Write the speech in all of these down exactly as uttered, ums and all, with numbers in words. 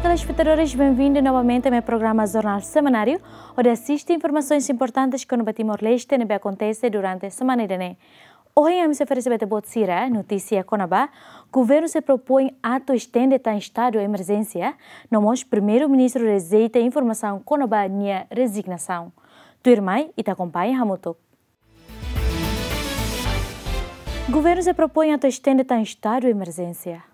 Telespetadores, benvindu novamente ba programa Jornál Semanáriu, hodi asiste informasaun importante kona-ba Timor-Leste ne'ebé akontese durante semana ida-ne'e. Ohin ami sei oferese ba ita-boot sira notísia kona-ba Governu sei propoin atu estende tan estadu emerjénsia, no mós Primeiru-Ministru rejeita informasaun kona-ba nia rezignasaun. Tuirmai, ita akompaña hamutuk. Governu sei propoin atu estende tan estadu emerjénsia.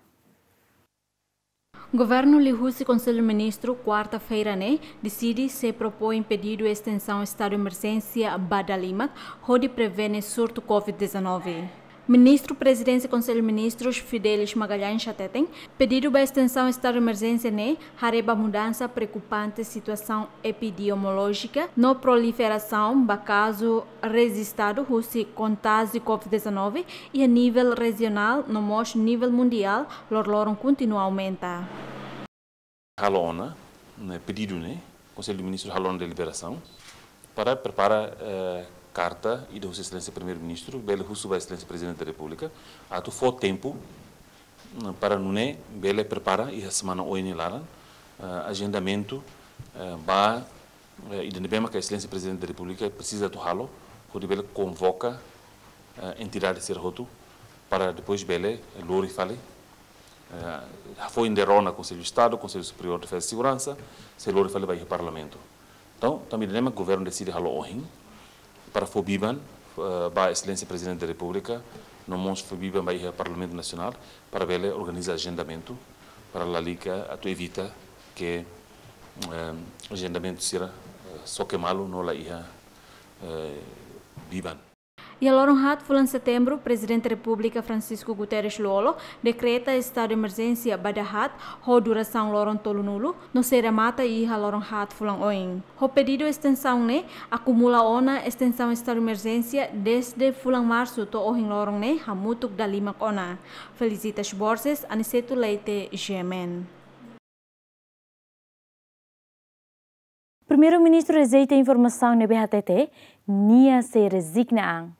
Governu liuhusi Konsellu Ministru, kuarta-feira ne'e, deside sei propoin pedidu estensaun estadu emerjénsia ba dala lima, hodi prevene surtu covid dezanove. Ministru Prezidénsia Konsellu Ministrus, Fidelis Magalhães, hateten, pedidu ba estensaun estadu emerjénsia ne'e haree ba mudansa preokupante situasaun epidemiolójika no proliferasaun ba kazu rejistadu husi kontájiu covid dezanove iha nivel rejionál no mós nivel mundiál loroloron kontinua aumenta. Halo ona, ne'e, pedidu ne'e, Konsellu Ministru halo ona deliberasaun para prepara, eh, karta ida husi Exelénsia Primeiru-Ministru, bele husu ba Exelénsia Prezidente da Repúblika, atu fó tempu, mm, para nune'e bele prepara iha semana oin nia laran, eh, ajendamentu, eh, ba, eh, ida ne'ebé maka Exelénsia Prezidente da Repúblika presiza atu halo, hodi bele konvoka, eh, entidade sira hotu, para depois bele, eh, lori fali, eh, hafoin de'it rona Konsellu Estadu, Konsellu Superiór de Defeza e Seguransa, sei lori fali ba iha Parlamentu. Entaun, tanba ida-ne'e mak Governu deside halo ohin, para fó biban, eh, ba Exelénsia Prezidente da Repúblika, no mós fó biban ba iha Parlamentu Nasionál, para bele organiza ajendamentu, para lalika atu evita ke, eh, ajendamentu sira, eh, xoke malu no la iha, eh, biban. Iha loron haat fulan Setembru, Prezidente Repúblika Francisco Guterres Lú-Olo dekreta estadu emerjénsia ba dahaat ho durasaun loron tolunulu, no sei remata iha loron haat fulan oin. Ho pedidu estensaun ne'e, akumula ona estensaun estadu emerjénsia dezde fulan Marsu to'o ohin loron ne'e hamutuk dala lima ona. Felicitas Borges, Aniceto Leite, G M N. Primeiru-Ministru rejeita informasaun ne'ebé hatete nia sei rezigna an.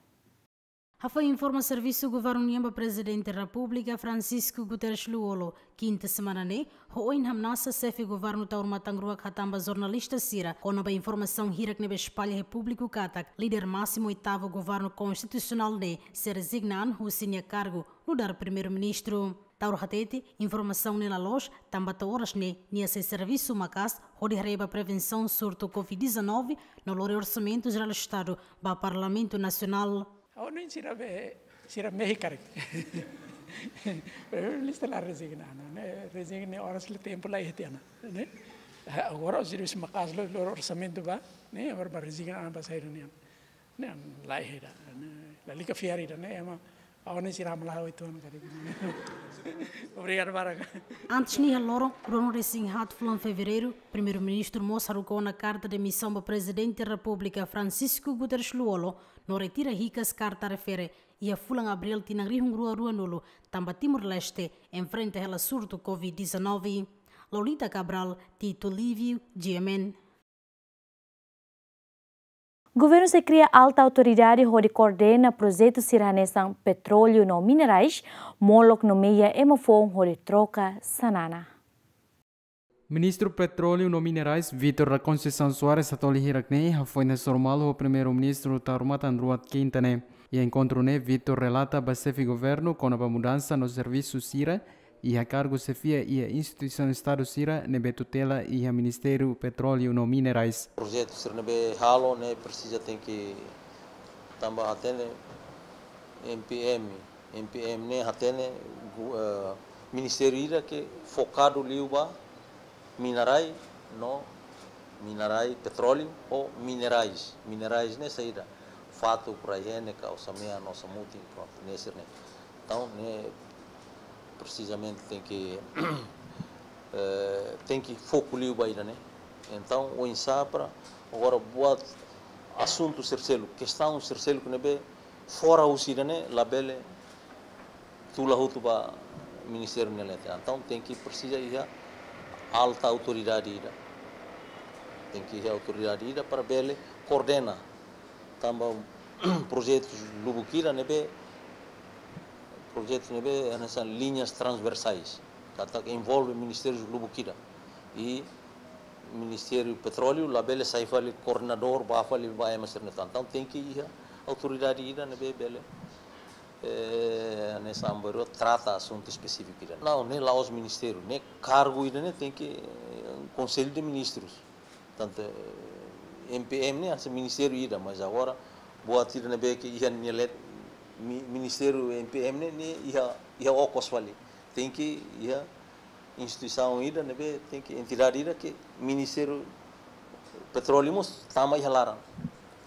Hafoin informa servisu governu nian ba Prezidente Repúblika Francisco Guterres Lú-Olo, kinta semana ne'e, ho oin hamnasa xefe governu Taur Matan Ruak hatán ba jornalista sira kona-ba informasaun hirak ne'ebé espalla iha públiku katak líder másimu oitavu governu konstitusionál ne'e sei rezigna an husi nia kargu nu'udar Primeiru-Ministru. Taur hatete, informasaun ne'e la loos, tanba to'o oras ne'e nia sei servisu maka'as hodi haree ba prevensaun surtu covid dezanove no lori orsamentu jerál Estadu ba Parlamentu Nasionál. Ha'u hanoin sira be, sira mehi karik. Primeiru-Ministru la rezigna, ne'e, rezigna oras la tempu la iha tiha ona, ne'e. Agora servisu maka'as lori, lori orsamentu ba, ne'e, agora ba rezigna an ba saida nian. Ne'e, la iha ida, ne'e, lalika fiar ida, ne'e, ema, ha'u hanoin sira hamlaha uitoan karik. Obrigadu barak. Antes ne'e iha loron ruanulu-resin-haat fulan Fevereiru, Primeiru-Ministru mós haruka ona karta demisaun ba Prezidente Repúblika Francisco Guterres Lú-Olo, no retira hikas karta refere iha fulan Abríl tinan rihun rua ruanulu, tanba Timor-Leste enfrenta hela surtu covid dezanove. Lolita Cabral, Tito Lívio, G M N. Governu sei kria alta autoridade hodi koordena projetu sira hanesan petróleu no minerais, molok nomeia ema foun hodi troka xanana. Ministru Petróleu no Minerais, Vítor da Conceição Soares, hato'o hirak ne'e hafoin hasoru malu ho Primeiru-Ministru Taur Matan Ruak kinta ne'e. Iha enkontru ne'e, Vítor relata ba xefe governu kona-ba mudansa no servisu sira iha kargu xefia iha instituisaun Estadu sira ne'ebé tutela iha Ministériu Petróleu no Minerais. Projetu sira ne'ebé halo ne'e presiza tenke tanba hatene M P M, M P M ne'e hatene gu-, eh, ministériu ida ke fokadu liu ba minerai no minerai petróleu ho minerais. Minerais ne'e saida? Fatuk, rai-henek, ka osan-mean, osan-mutin, prontu, ne'e sira-ne'e. Entaun, ne'e presizamente tenke, eh, tenke foku liu ba ida-ne'e. Entaun, oinsá para agora buat asuntu sira seluk, kestaun sira seluk ne'ebé fora husi ida-ne'e labele tula hotu ba ministériu nia leten. Entaun tenke presiza iha alta autoridade ida. Tenke iha autoridade ida para bele koordena. Tanba projetus lubuk ida ne'ebé, projetus ne'ebé hanesan linhas transversais, katak envolve ministérius lubuk ida. I Ministériu Petróleu labele sai fali koordenadór, bá fali ba ema sira-ne'e tan. Entaun tenke iha autoridade ida ne'ebé bele, eh, hanesan baru trata asuntu espesífiku ida. Não, ne'e la'ós ministériu, ne'e kargu ida-ne'e tenke, eh, Konsellu de Ministrus. Tantu, eh, M P M ne'e hanesan ministériu ida, mas agora buat ida ne'ebé ke iha nia leet, mi-, ministériu M P M ne'e, ne'e iha, iha okos fali. Tenke iha instituisaun ida ne'ebé, tenke entidade ida ke Ministériu Petróleu mós tama iha laran.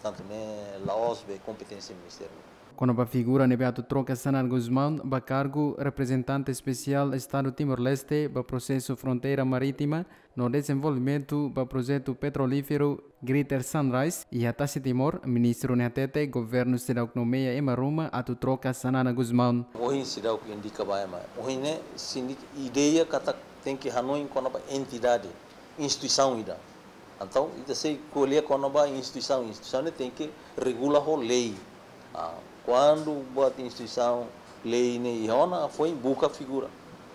Tantu ne'e la'ós be kompeténsia ministériu. Kona-ba figura ne'ebé atu troka Xanana Gusmão ba kargu reprezentante espesiál Estadu Timor-Leste ba prosesu fronteira marítima no dezenvolvimentu ba projetu petrolíferu Greater Sunrise iha tasi Timor, ministru ne'e hatete governu seidauk nomeia ema ruma atu troka Xanana Gusmão. Ohin seidauk indika ba ema. Ohin ne'e seidauk ideia katak tenke hanoin kona-ba entidade, instituisaun ida. Entaun, ita sei ko'alia kona-ba instituisaun, instituisaun ne'e tenke regula ho lei. Ah, kuandu buat instituisaun, lei ne'e iha ona, foin buka figura.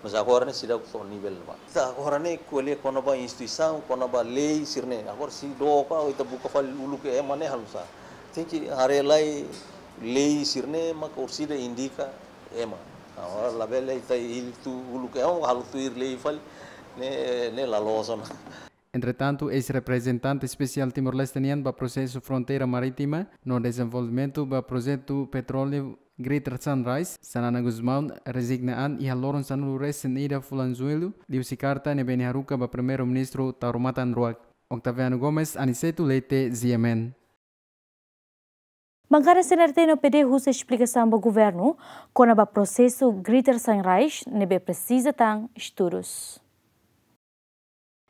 Mas agora ne'e seidauk to'o nivel ne'ebá. Ita agora ne'e ko'alia kona-ba instituisaun, kona-ba lei sira-ne'e. Agora sei dook ka, ita buka fali uluk ema ne'e halo nusá. Tenke haree lai lei sira-ne'e mak orsida indika ema. Agora labele ita hili tuir uluk ema, halo tuir lei fali, ne'e, ne'e la loos ona. Entretantu, eis-reprezentante espesiál Timor-Leste nian ba prosesu fronteira marítima no dezenvolvimentu ba projetu petróleu Greater Sunrise, Xanana Gusmão, rezigna an iha loron sanulu-resin-ida fulan Jullu, liuhusi karta ne'ebé nia haruka ba Primeiru-Ministru Taur Matan Ruak. Octaviano Gomes, Aniceto Leite, G M N. Bankada C N R T no P D husu esplikasaun ba governu kona-ba prosesu Greater Sunrise ne'ebé presiza tan estudus.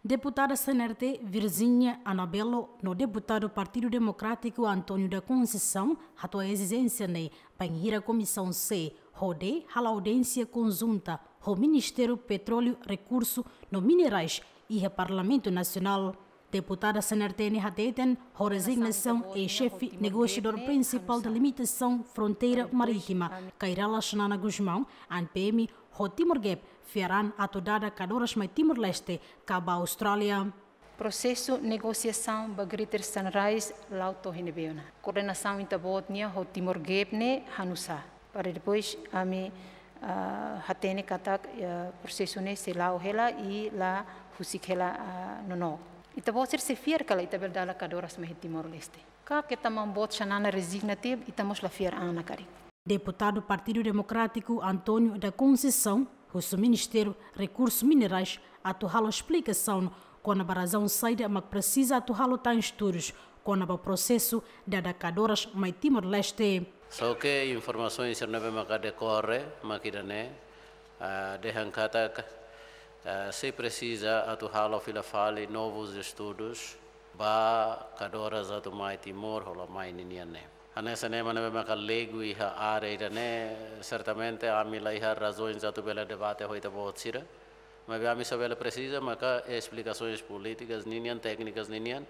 Deputada C N R T Virginia Anabelo no deputadu Partidu Demokrátiku António da Conceição hato'o ezijénsia ne'e bainhira Komisaun C ho D hala'o audiénsia konjunta ho Ministériu Petróleu, Rekursu no Minerais iha Parlamentu Nasionál. Deputada C N R T ne'e hateten, ho rezignasaun eis-xefe negosiadór prinsipál delimitasaun fronteira marítima, Kay Rala Xanana Gusmão, an P M ho Timor Gap fiar an atu dada kadoras mai Timor-Leste ka ba Austrália. Prosesu negosiasaun ba Greater Sunrise la'o to'o iha ne'ebé ona. Koordenasaun ita-boot nian ho Timor Gap ne'e hanusá. Para depois ami, ah, hatene katak, ah, prosesu ne'e sei la'o hela i la husik hela, ah, nonook. Ita-boot sira sei fiar katak ita bele dada kadoras mai Timor-Leste. Ka ke ita maun-boot Xanana rezigna tiha, ita mós la fiar an ona karik. Deputadu Partidu Demokrátiku António da Conceição husu Ministériu Rekursu Minerais atu halo esplikasaun kona-ba razaun saida mak presiza atu halo tan estudus kona-ba prosesu dada kadoras mai Timor-Leste. Só ke informasaun sira ne'ebé maka dekorre, mak ida-ne'e, ah, dehan katak, ah, sei presiza atu halo fila fali novus estudus ba kadoras atu mai Timor ho la mai ninian ne'e. Hanesan ema ne'ebé maka leigu iha área ida-ne'e, sertamente ami la iha razaun atu bele debate ho ita-boot sira. Maibé ami só bele presiza maka esplikasaun polítikas ninian, téknikas ninian,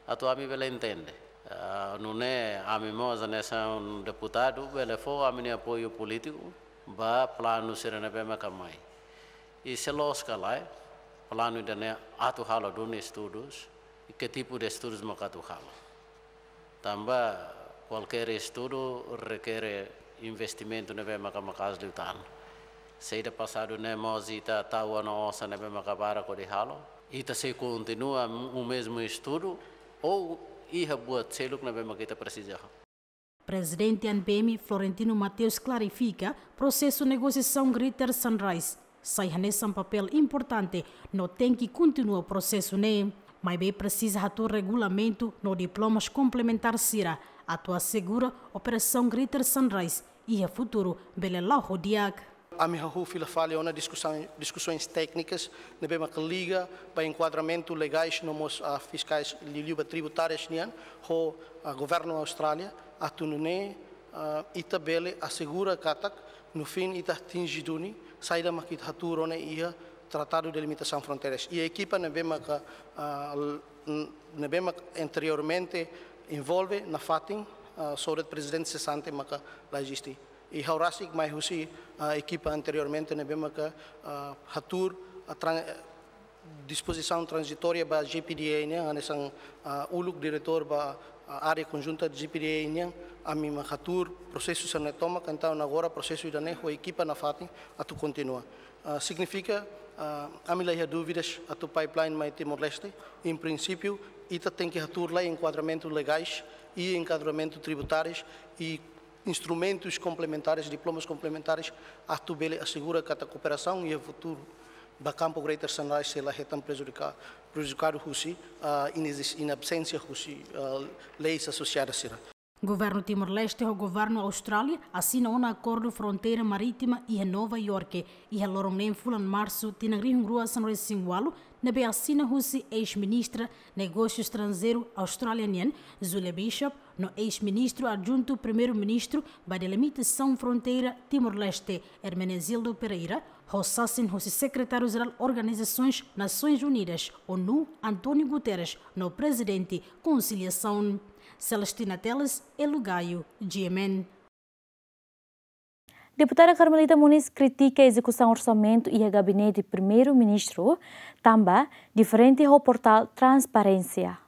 atu ami bele entende. Ah, nune'e ami mós hanesan deputadu bele fó ami-nia apoiu polítiku ba planu sira ne'ebé maka mai. I se loos ka lae, planu ida-ne'e atu halo duni estudus, i ke tipu de estudus maka atu halo. Tanba kualkér estudu rekere investimentu ne'ebé maka maka'as liután. Saida pasadu ne'e mós ita tau ona osan ne'ebé maka barak hodi halo. Ita sei kontinua o mesmu estudu ou iha buat seluk ne'ebé maka ita presiza. Prezidente ANPM Florentino Mateus klarifika, prosesu negosiasaun Greater Sunrise sai hanesan papél importante no tenke kontinua prosesu ne'e. Maibé presiza hatuur regulamentu no diplomas komplementár sira atu asegura operasaun Greater Sunrise iha futuru bele la'o ho di'ak. Ami hahú fila fali ona diskusaun, diskusoens téknikas ne'ebé maka liga ba enkuadramentu legais no mós, ah, fiskais liuliu ba tributárias nian ho, ah, governu Austrália, atu nune'e, ah, ita bele asegura katak no fin ita atinje duni saida mak ita hatuur ona iha Tratadu de Limitasaun Fronteiras. I ekipa ne'ebé maka, ah, l-, n-, ne'ebé maka anteriormente envolve nafatin, ah, só de'it prezidente sesante maka la eziste. I ha'u rasik mai husi, ah, ekipa anteriormente ne'ebé maka, ah, hatuur, ah, tran-, Dispozisaun tranzitória ba G P D A nian, hanesan, ah, uluk diretór ba, ah, área konjunta G P D A nian, ami mak hatuur prosesu sira-ne'e tomak, entaun agora prosesu ida-ne'e ho ekipa nafatin atu kontinua. Ah, signifika, ah, ami la iha dúvidas atu pipeline mai Timor-Leste, em princípio, ita tenke hatuur lai enkuadramentu legais i enkuadramentu tributáriu i instrumentus komplementares, diplomas komplementares, atu bele asegura katak kooperasaun iha futuru ba kampu Greater Sunrise sei la hetan prejudika-, prejudikadu husi, ah, inezis-, inabsténsia husi, ah, leis asosiadas sira. Governu Timor-Leste ho Governu Austrália asina ona akordu fronteira marítima iha Nova Iorke, iha loron neen fulan Marsu, tinan rihun rua sanulu-resin-ualu, ne'ebé asina husi eis-ministra Negósiu Estranjeiru Austrália nian, Julie Bishop, no eis-ministru adjuntu Primeiru-Ministru ba Delimitasaun Fronteira Timor-Leste, Hermenegildo Pereira, ho sasin husi Sekretáriu-Jerál Organizasoens Nasoins Unidas, ONU, António Guterres, no Prezidente Konsiliasaun, Celestina Teles, Elo Gaio, G M N. Deputada Carmelita Moniz kritika ezekusaun orsamentu iha Gabinete Primeiru-Ministru, tanba diferente ho portál transparénsia.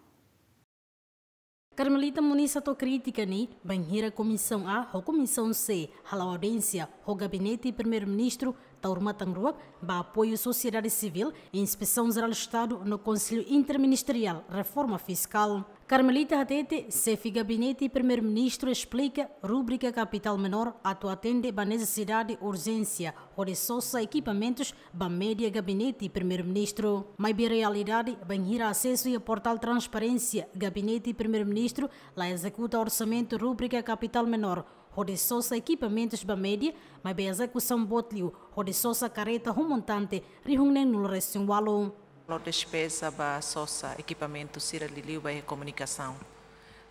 Carmelita Moniz hato'o krítika ne'e bainhira Komisaun A ho Komisaun C hala'o audiénsia ho Gabinete Primeiru-Ministru, tau rumatan ruak ba apoiu sosiedade sivíl, Inspesaun Jerál Estadu no Konsellu Interministeriál Reforma Fiskál. Carmelita hatete, Xefe Gabinete Primeiru-Ministru esplika rúbrika kapitál menór atu atende ba nesesidade urjénsia hodi sosa ekipamentus ba média Gabinete Primeiru-Ministru. Maibé realidade, bainhira asesu iha portál transparénsia Gabinete Primeiru-Ministru, la ezekuta orsamentu rúbrika kapitál menór hodi sosa ekipamentus ba média, maibé ezekusaun boot liu hodi sosa karreta ho montante rihun neen-nulu-resin-ualu. Lo despeza ba sosa ekipamentu sira liuliu ba iha komunikasaun.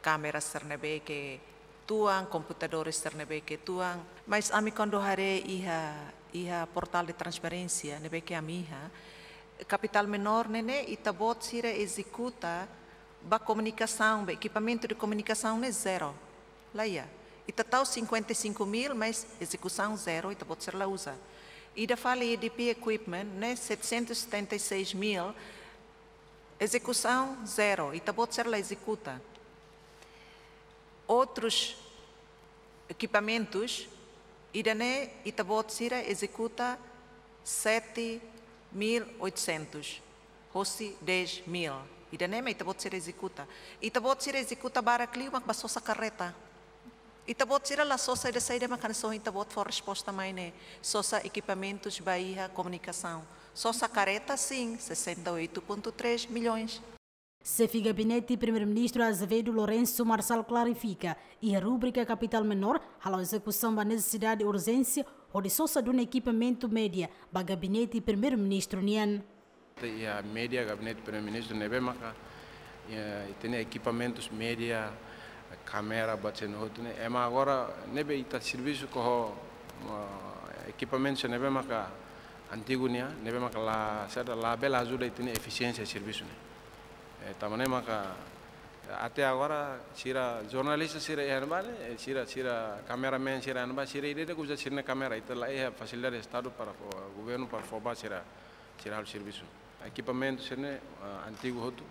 Kámera sira ne'ebé ke tuan, komputadór sira ne'ebé ke tuan. Mas ami kuandu haree iha, iha portál de transparénsia ne'ebé ke ami iha, kapitál menór ne'e ne'e ita-boot sira ezekuta ba komunikasaun, ba ekipamentu de komunikasaun ne'e zero. La iha. Ita tau cinquenta e cinco mil, mas ezekusaun zero, ita-boot sira la uza. Ida fali E D P equipment ne'e setecentos e setenta e seis mil, ezekusaun zero, ita-boot sira la ezekuta. Outros equipamentos, ida-ne'e ita-boot sira ezekuta sete mil oitocentos, hosi dez mil. Ida-ne'e mak ita-boot sira ezekuta. Ita-boot sira ezekuta barak liu mak ba sosa karreta. Ita-boot sira la sosa ida saida mak hanesan ita-boot fó resposta mai ne'e. Sosa ekipamentus ba iha komunikasaun. Sosa karreta, sin, sessenta e oito ponto três milhões. Xefe Gabinete Primeiru-Ministru Azevedo Lourenço Marçal klarifika, iha rúbrika kapitál menór, hala'o ezekusaun ba nesesidade urjénsia, hodi sosa duni ekipamentu média ba Gabinete Primeiru-Ministru nian. Iha média Gabinete Primeiru-Ministru ne'ebé maka, iha, ita-nia ekipamentus média, kámera, buat sira-ne'e hotu ne'e. Ema agora ne'ebé ita servisu ho, ah, ekipamentus ne'ebé maka antigu nian, ne'ebé maka la, saida, labele ajuda ita-nia efisiénsia servisu ne'e. Eh, tanba ne'e maka, até agora, sira jornalista sira iha ne'ebá ne'e, eh, sira, sira cameraman sira iha ne'ebá, sira ida-idak uza sira-nia kámera, ita la iha fasilidade Estadu para fó, governu para fó ba sira, sira halo servisu. Ekipamentu sira-ne'e, ah, antigu hotu,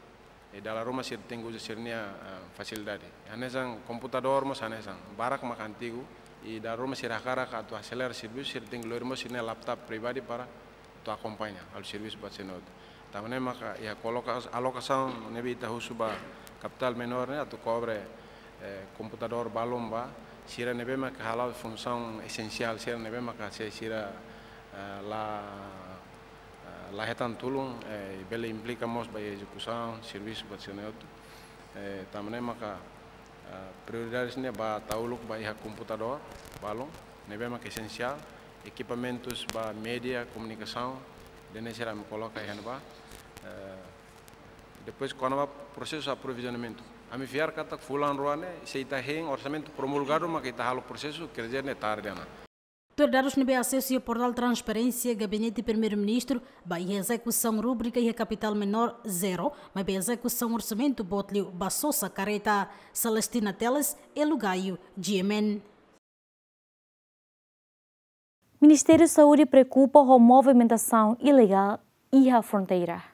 i dala ruma sira tenke uza sira-nia, ah, fasilidade. Hanesan komputadór mós hanesan, barak mak antigu, i dala ruma sira hakarak atu aselera servisu, sira tenke lori mós sira-nia laptop pribadi para atu akompaña, halo servisu buat sira-ne'e hotu. Tanba ne'e maka iha koloka-, alokasaun ne'ebé ita husu ba kapitál menór ne'e atu kobre, eh, komputadór balun ba sira ne'ebé maka hala'o funsaun esensiál, sira ne'ebé maka se sira, eh, la, eh, la hetan tulun, eh, bele implika mós ba ezekusaun servisu buat sira-ne'e hotu. Eh, tanba ne'e maka, eh, prioridade ne'e ba tau uluk ba iha komputadór balun, ne'ebé maka esensiál, ekipamentus ba média, komunikasaun, ida-ne'e sira ami koloka iha ne'ebá. Eh, depois, kona-ba prosesu aprovizionamentu. Ami fiar katak fulan rua ne'e, se ita hein orsamentu promulgadu, maka ita halo prosesu, quer dizer, ne'e tarde ona. Tuir dadus ne'ebé asesu iha portál transparénsia Gabinete Primeiru-Ministru, ba iha ezekusaun rúbrika iha kapitál menór zero, maibé ezekusaun orsamentu boot liu ba sosa karreta. Celestina Teles, Elo Gaio, G M N. Ministériu Saúde preokupa ho movimentasaun ilegál iha fronteira.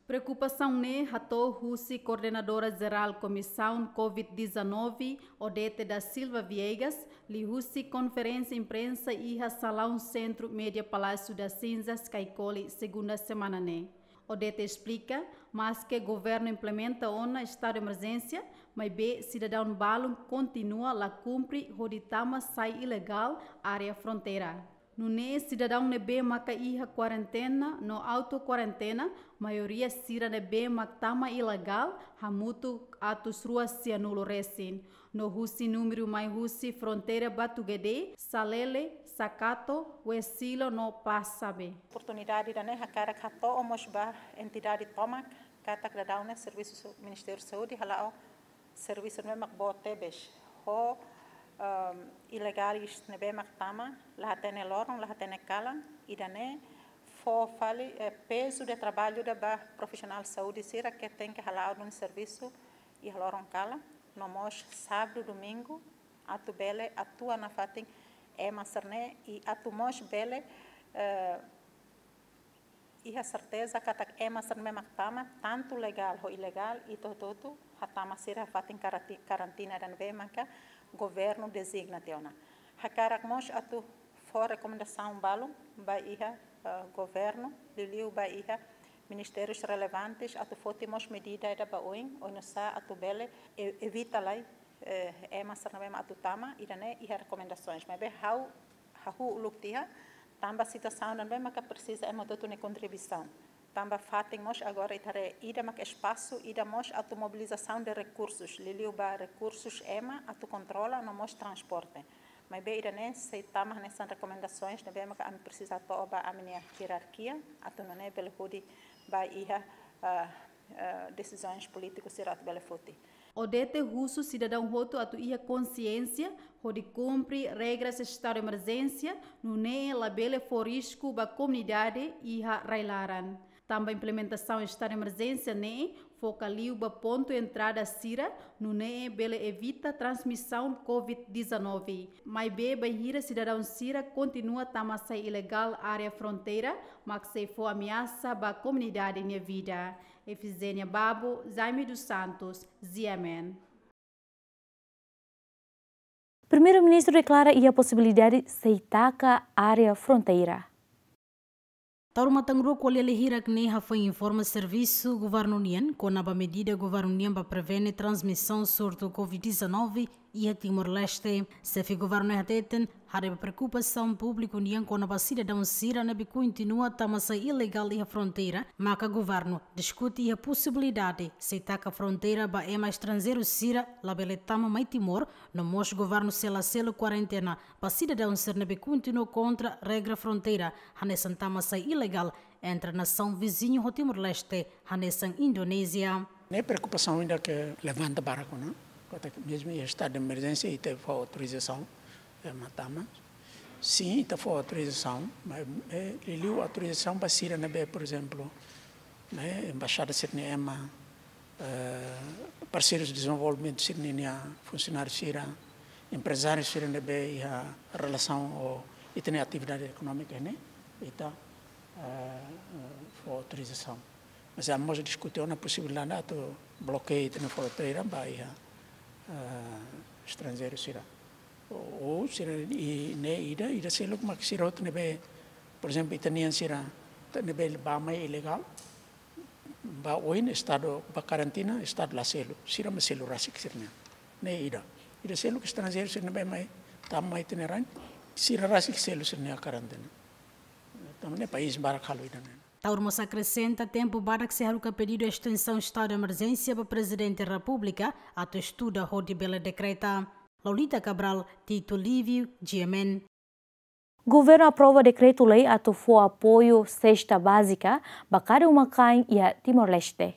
Preokupasaun ne'e hato'o husi Koordenadora Jerál Komisaun covid dezanove, Odete da Silva Viegas, liuhusi konferénsia imprensa iha salaun Sentru Média Palácio das Cinzas, Caicoli, segunda semana ne'e. Odete esplika, maske governu implementa ona estadu emerjénsia, maibé sidadaun balun kontinua la kumpre hodi tama sai ilegál área fronteira. Nune'e sidadaun ne'ebé maka iha kuarentena no auto-kuarentena, maioria sira ne'ebé mak tama ilegál, hamutuk atus rua sianulu resin. No husi númeru mai husi fronteira Batugede, Salele, Sakato, Wesilo no Pasabe. Oportunidade ida-ne'e hakarak hato'o mós ba entidade tomak, katak daudaun ne'e servisu Ministériu Saúde hala'o servisu ne'ebé mak boot tebes. Ho, ehm, ilegál ne'ebé mak tama, la hatene loron, la hatene kalan, ida-ne'e fó fali, eh, pezu de traballu ida ba profisionál saúde sira ke tenke hala'o duni servisu iha loron kalan, no mós sábadu, domingu, atu bele atua nafatin ema sira-ne'e, i atu mós bele, eh, iha serteza katak ema sira ne'ebé mak tama, tantu legál ho ilegál, ita hotu-hotu hatama sira fatin karati-, karantina ida ne'ebé maka governu dezigna tiha ona. Hakarak mós atu fó rekomendasaun balun ba iha, eh, governu, liuliu ba iha ministérius relevantes, atu foti mós medida ida ba oin, oinsá atu bele e-, evita lai, eh, ema sira ne'ebé mak atu tama, ida-ne'e iha rekomendasoens. Maibé ha'u hahú uluk tiha, tanba situasaun ne'ebé maka presiza ema hotu-hotu nia kontribuisaun. Tanba fatin mós agora ita haree ida mak espasu, ida mós atu mobilizasaun de rekursus, liuliu ba rekursus ema atu kontrola no mós transporte. Maibé ida-ne'e sei tama hanesan rekomendasoens ne'ebé maka ami presiza to'o ba ami-nia hierarkia, atu nune'e bele hodi ba iha, ah, eh, desizaun polítiku sira atu bele foti. Odete husu sidadaun hotu atu iha konsiénsia hodi kumpre regras estadu emerjénsia, nune'e labele fó risku ba komunidade iha rai-laran. Tanba implementasaun estadu emerjénsia ne'e foka liu ba pontu entrada sira, nune'e bele evita transmisaun covid dezanove. Maibé bainhira sidadaun sira kontinua tama sai ilegál área fronteira, mak sei fó ameasa ba komunidade nia vida. Efizénia Babo, Jaime dos Santos, G M N. Primeiru-Ministru deklara iha posibilidade sei taka área fronteira. Taur matan rua ko'alia hirak ne'e hafoin informa servisu governu nian kona-ba medida governu nian ba prevene transmisaun surtu covid dezanove iha Timor-Leste. Xefe governu ne'e hateten, haree ba preokupasaun públiku nian kona-ba sidadaun sira ne'ebé kontinua tama sai ilegál iha fronteira, maka governu diskute iha posibilidade sei taka fronteira ba ema estranjeiru sira labele tama mai Timor, no mós governu sei la selu kuarentena ba sidadaun sira ne'ebé kontinua kontra regra fronteira, hanesan tama sai ilegál entre nasaun viziñu ho Timor-Leste, hanesan Indonézia. Ne'e preokupasaun ida ke levanta barak ona, katak mezmu iha estadu de emerjénsia ita fó autorizasaun, eh, ema tama. Sin, ita fó autorizasaun, mas, eh, liuliu autorizasaun ba sira ne'ebé, por ezemplu, ne'e, embaixada sira-nia ema, eh, parseirus dezenvolvimentu sira-nia funsionáriu sira, emprezáriu sira ne'ebé iha relasaun ho ita-nia atividade ekonómika ne'e, ita, eh, fó autorizasaun. Mas ami mós diskute ona posibilidade atu blokeia ita-nia fronteira ba iha, eh, estranjeiru sira. Ou, ou sira i ne'e ida, ida seluk mak sira hotu ne'ebé, por ezemplu, ita-nian sira, ita ne'ebé bá mai ilegál, ba oin estadu, ba karantina, estadu la selu, sira mak selu rasik sira-nian. Ne'e ida. Ida seluk estranjeiru sira ne'ebé mai, tama mai ita-nia rain, sira rasik selu sira-nia karantina. Tanba ne'e país barak halo ida-ne'e. Taur mós akresenta tempu badak sei haruka pedidu estensaun estadu de emerjénsia ba Prezidente Repúblika atu estuda hodi bele dekreta. Laulita Cabral, Tito Lívio, G M N. Governu aprova dekretu-lei atu fó apoiu sesta bázika ba kada uma-kain iha Timor-Leste.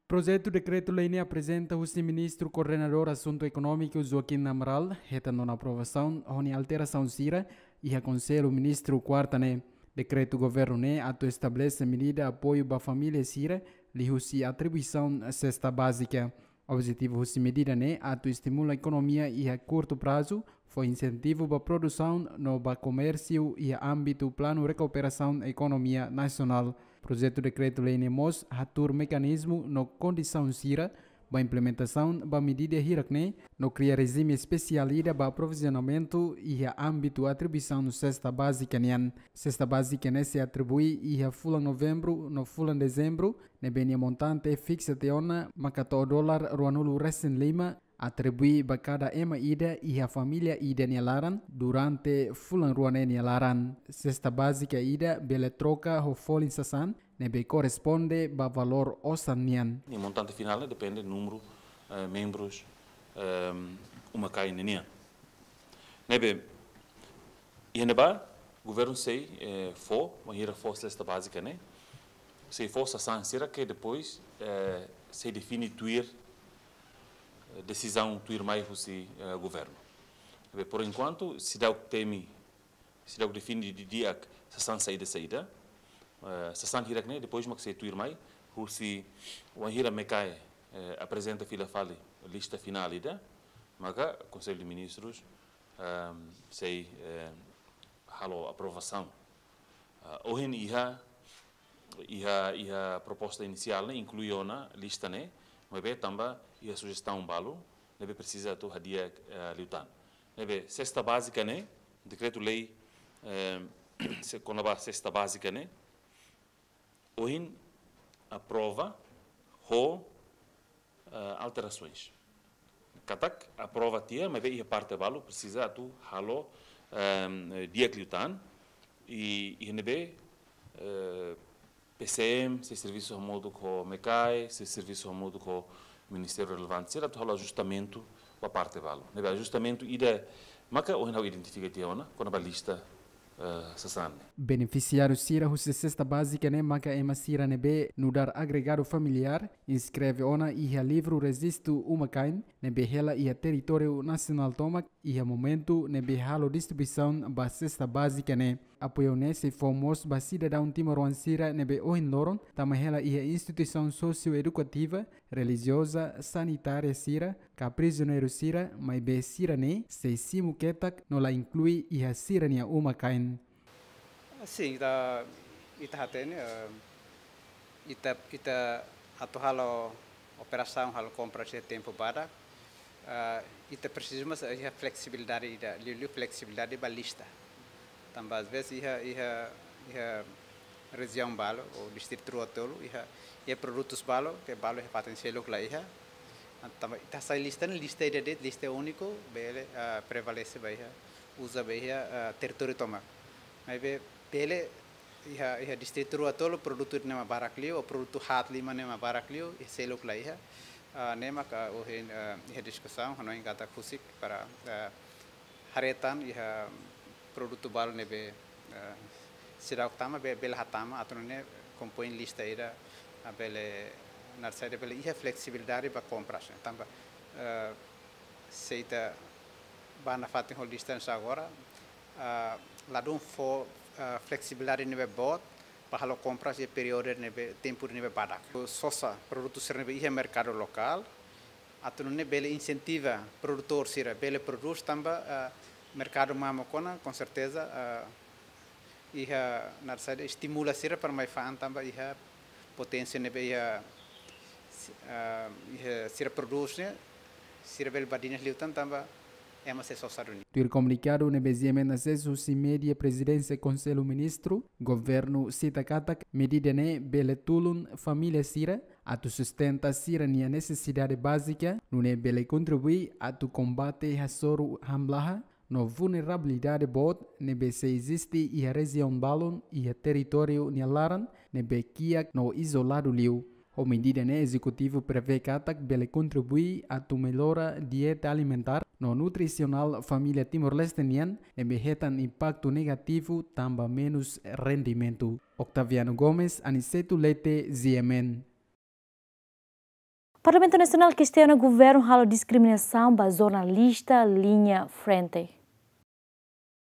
Projetu dekretu-lei ne'e aprezenta husi Ministru Koordenadór Asuntu Ekonómiku Joaquim Amaral, hetan ona aprovasaun ho nia alterasaun sira iha Konsellu Ministru kuarta ne'e. Dekretu governu ne'e atu estabelese medida apoiu ba família sira liuhusi atribuisaun sesta bázika. Objetivu husi medida ne'e atu estimula ekonomia iha kurtu prazu, fó insentivu ba produsaun no ba komérsiu iha ámbitu Planu Rekuperasaun Ekonomia Nasionál. Projetu dekretu-lei ne'e mós hatuur mekanizmu no kondisaun sira ba implementasaun ba medida hirak-ne'e, no kria rejime espesiál ida ba aprovizionamentu iha ámbitu atribuisaun sesta bázika nian. Sesta bázika ne'e sei atribui iha fulan Novembru no fulan Dezembru, ne'ebé nia montante fiksa tiha ona maka to'o dolar ruanulu resin lima, atribui ba kada ema ida iha família ida nia laran durante fulan rua ne'e nia laran. Sesta bázika ida bele troka ho folin sasán ne'ebé korresponde ba valór osan nian. Nia montante finál ne'e depende númeru, eh, membrus, ehm, uma-kain ninian. Ne'ebé, iha ne'ebá, governu sei, eh, fó, bainhira fó sesta bázika ne'e, sei fó sasán sira ke depois, eh, sei define tuir, eh, desizaun tuirmai husi, eh, governu. Ne'ebé, por enkuantu, seidauk temi, seidauk define didi'ak sasán saida-saida, eh, sasán hirak-ne'e, depois mak sei tuirmai, husi wainhira MECAE, eh, aprezenta fila fali lista finál ida, maka Konsellu de Ministrus, ehm, sei, eh, halo aprovasaun. Ah, ohin iha, iha, iha proposta inisiál ne'e inklui ona lista ne'e, maibé tanba iha sujestaun balu, ne'ebé presiza atu hadi'a, eh, liután. Ne'ebé sesta bázika ne'e, dekretu-lei, eh, se kona-ba sesta bázika ne'e, ohin aprova ho, eh, alterasoens. Katak aprova tiha, maibé iha parte balu presiza atu halo, ehm, di'ak liután, i, iha ne'ebé, eh, PCM sei servisu hamutuk ho MECAE, sei servisu hamutuk ho ministériu relevante sira atu halo ajustamentu ba parte balu. Ne'ebé ajustamentu ida maka ohin ha'u identifika tiha ona, kona-ba lista, eh, sasán ne'e. Benefisiáriu sira husi sesta bázika ne'e maka ema sira ne'ebé nu'udar agregadu familiár, inskreve ona iha livru rejistu uma-kain, ne'ebé hela iha territóriu nasionál tomak, iha momentu ne'ebé halo distribuisaun ba sesta bázika ne'e. Apoiu ne'e sei fó mós ba sidadaun timoroan sira ne'ebé ohin loron tama hela iha instituisaun sosioedukativa, relijioza, sanitária sira, ka prizioneiru sira, maibé sira-ne'e sei simu ketak no la inklui iha sira-nia uma-kain. Sin, ita, ita hatene, eh, ita, ita atu halo operasaun, halo kompra iha tempu badak, eh, ita presiza mós iha fleksibilidade ida, liuliu fleksibilidade ba lista. Tanba às vezes iha, iha, iha rejiaun balu, ou distritu rua tolu, iha, iha produtus balu, ke balu iha fatin seluk la iha. Tanba ita hasai lista ne'e, lista ida de'it, lista úniku, bele, ah, prevalese ba iha, uza ba iha, ah, territóriu tomak. Maibé, bele, iha, iha distritu rua tolu, produtu ne'e mak barak liu, ou produtu haat lima ne'e mak barak liu, iha seluk la iha. Ah, ne'e maka ohin, ah, iha diskusaun, hanoin katak husik para, ah, haree tan iha produtu balu ne'ebé, eh, seidauk tama be-, bele hatama atu nune'e kompoin lista ida, ah, bele naran saida bele iha fleksibilidade ba kompras. Tanba, eh, se ita bá nafatin ho lista ne'e agora, ah, ladún fó, ah, fleksibilidade ne'ebé boot, para halo kompras iha períodu ne'ebé, tempu ne'ebé badak. Sosa produtu sira ne'ebé iha merkadu lokál, atu nune'e bele insentiva produtór sira bele prodús tanba, ah, merkadu mamuk ona, com certeza, ah, iha naran saida estimula sira para mai fa'an tanba iha poténsia ne'ebé iha, ah, iha sira prodús ne'e, sira bele badinas liután tanba ema sei sosa duni. Tuir komunikadu ne'ebé GMN asesu husi mídia Prezidénsia Konsellu Ministru, governu sita katak medida ne'e bele tulun família sira atu sustenta sira-nia nesesidade bázika, nune'e bele kontribui atu kombate hasoru hamlaha no vulnerabilidade boot ne'ebé sei eziste iha rejiaun balun iha territóriu nia laran ne'ebé kiak no izoladu liu. Ho medida ne'e ezekutivu prevee katak bele kontribui atu mellora dieta alimentár no nutrisionál família Timor-Leste nian ne'ebé hetan impaktu negativu tanba menus rendimentu. Octaviano Gomes, Aniceto Leite, GMN. Parlamentu Nasionál kestiona governu halo diskriminasaun ba jornalista linha frente.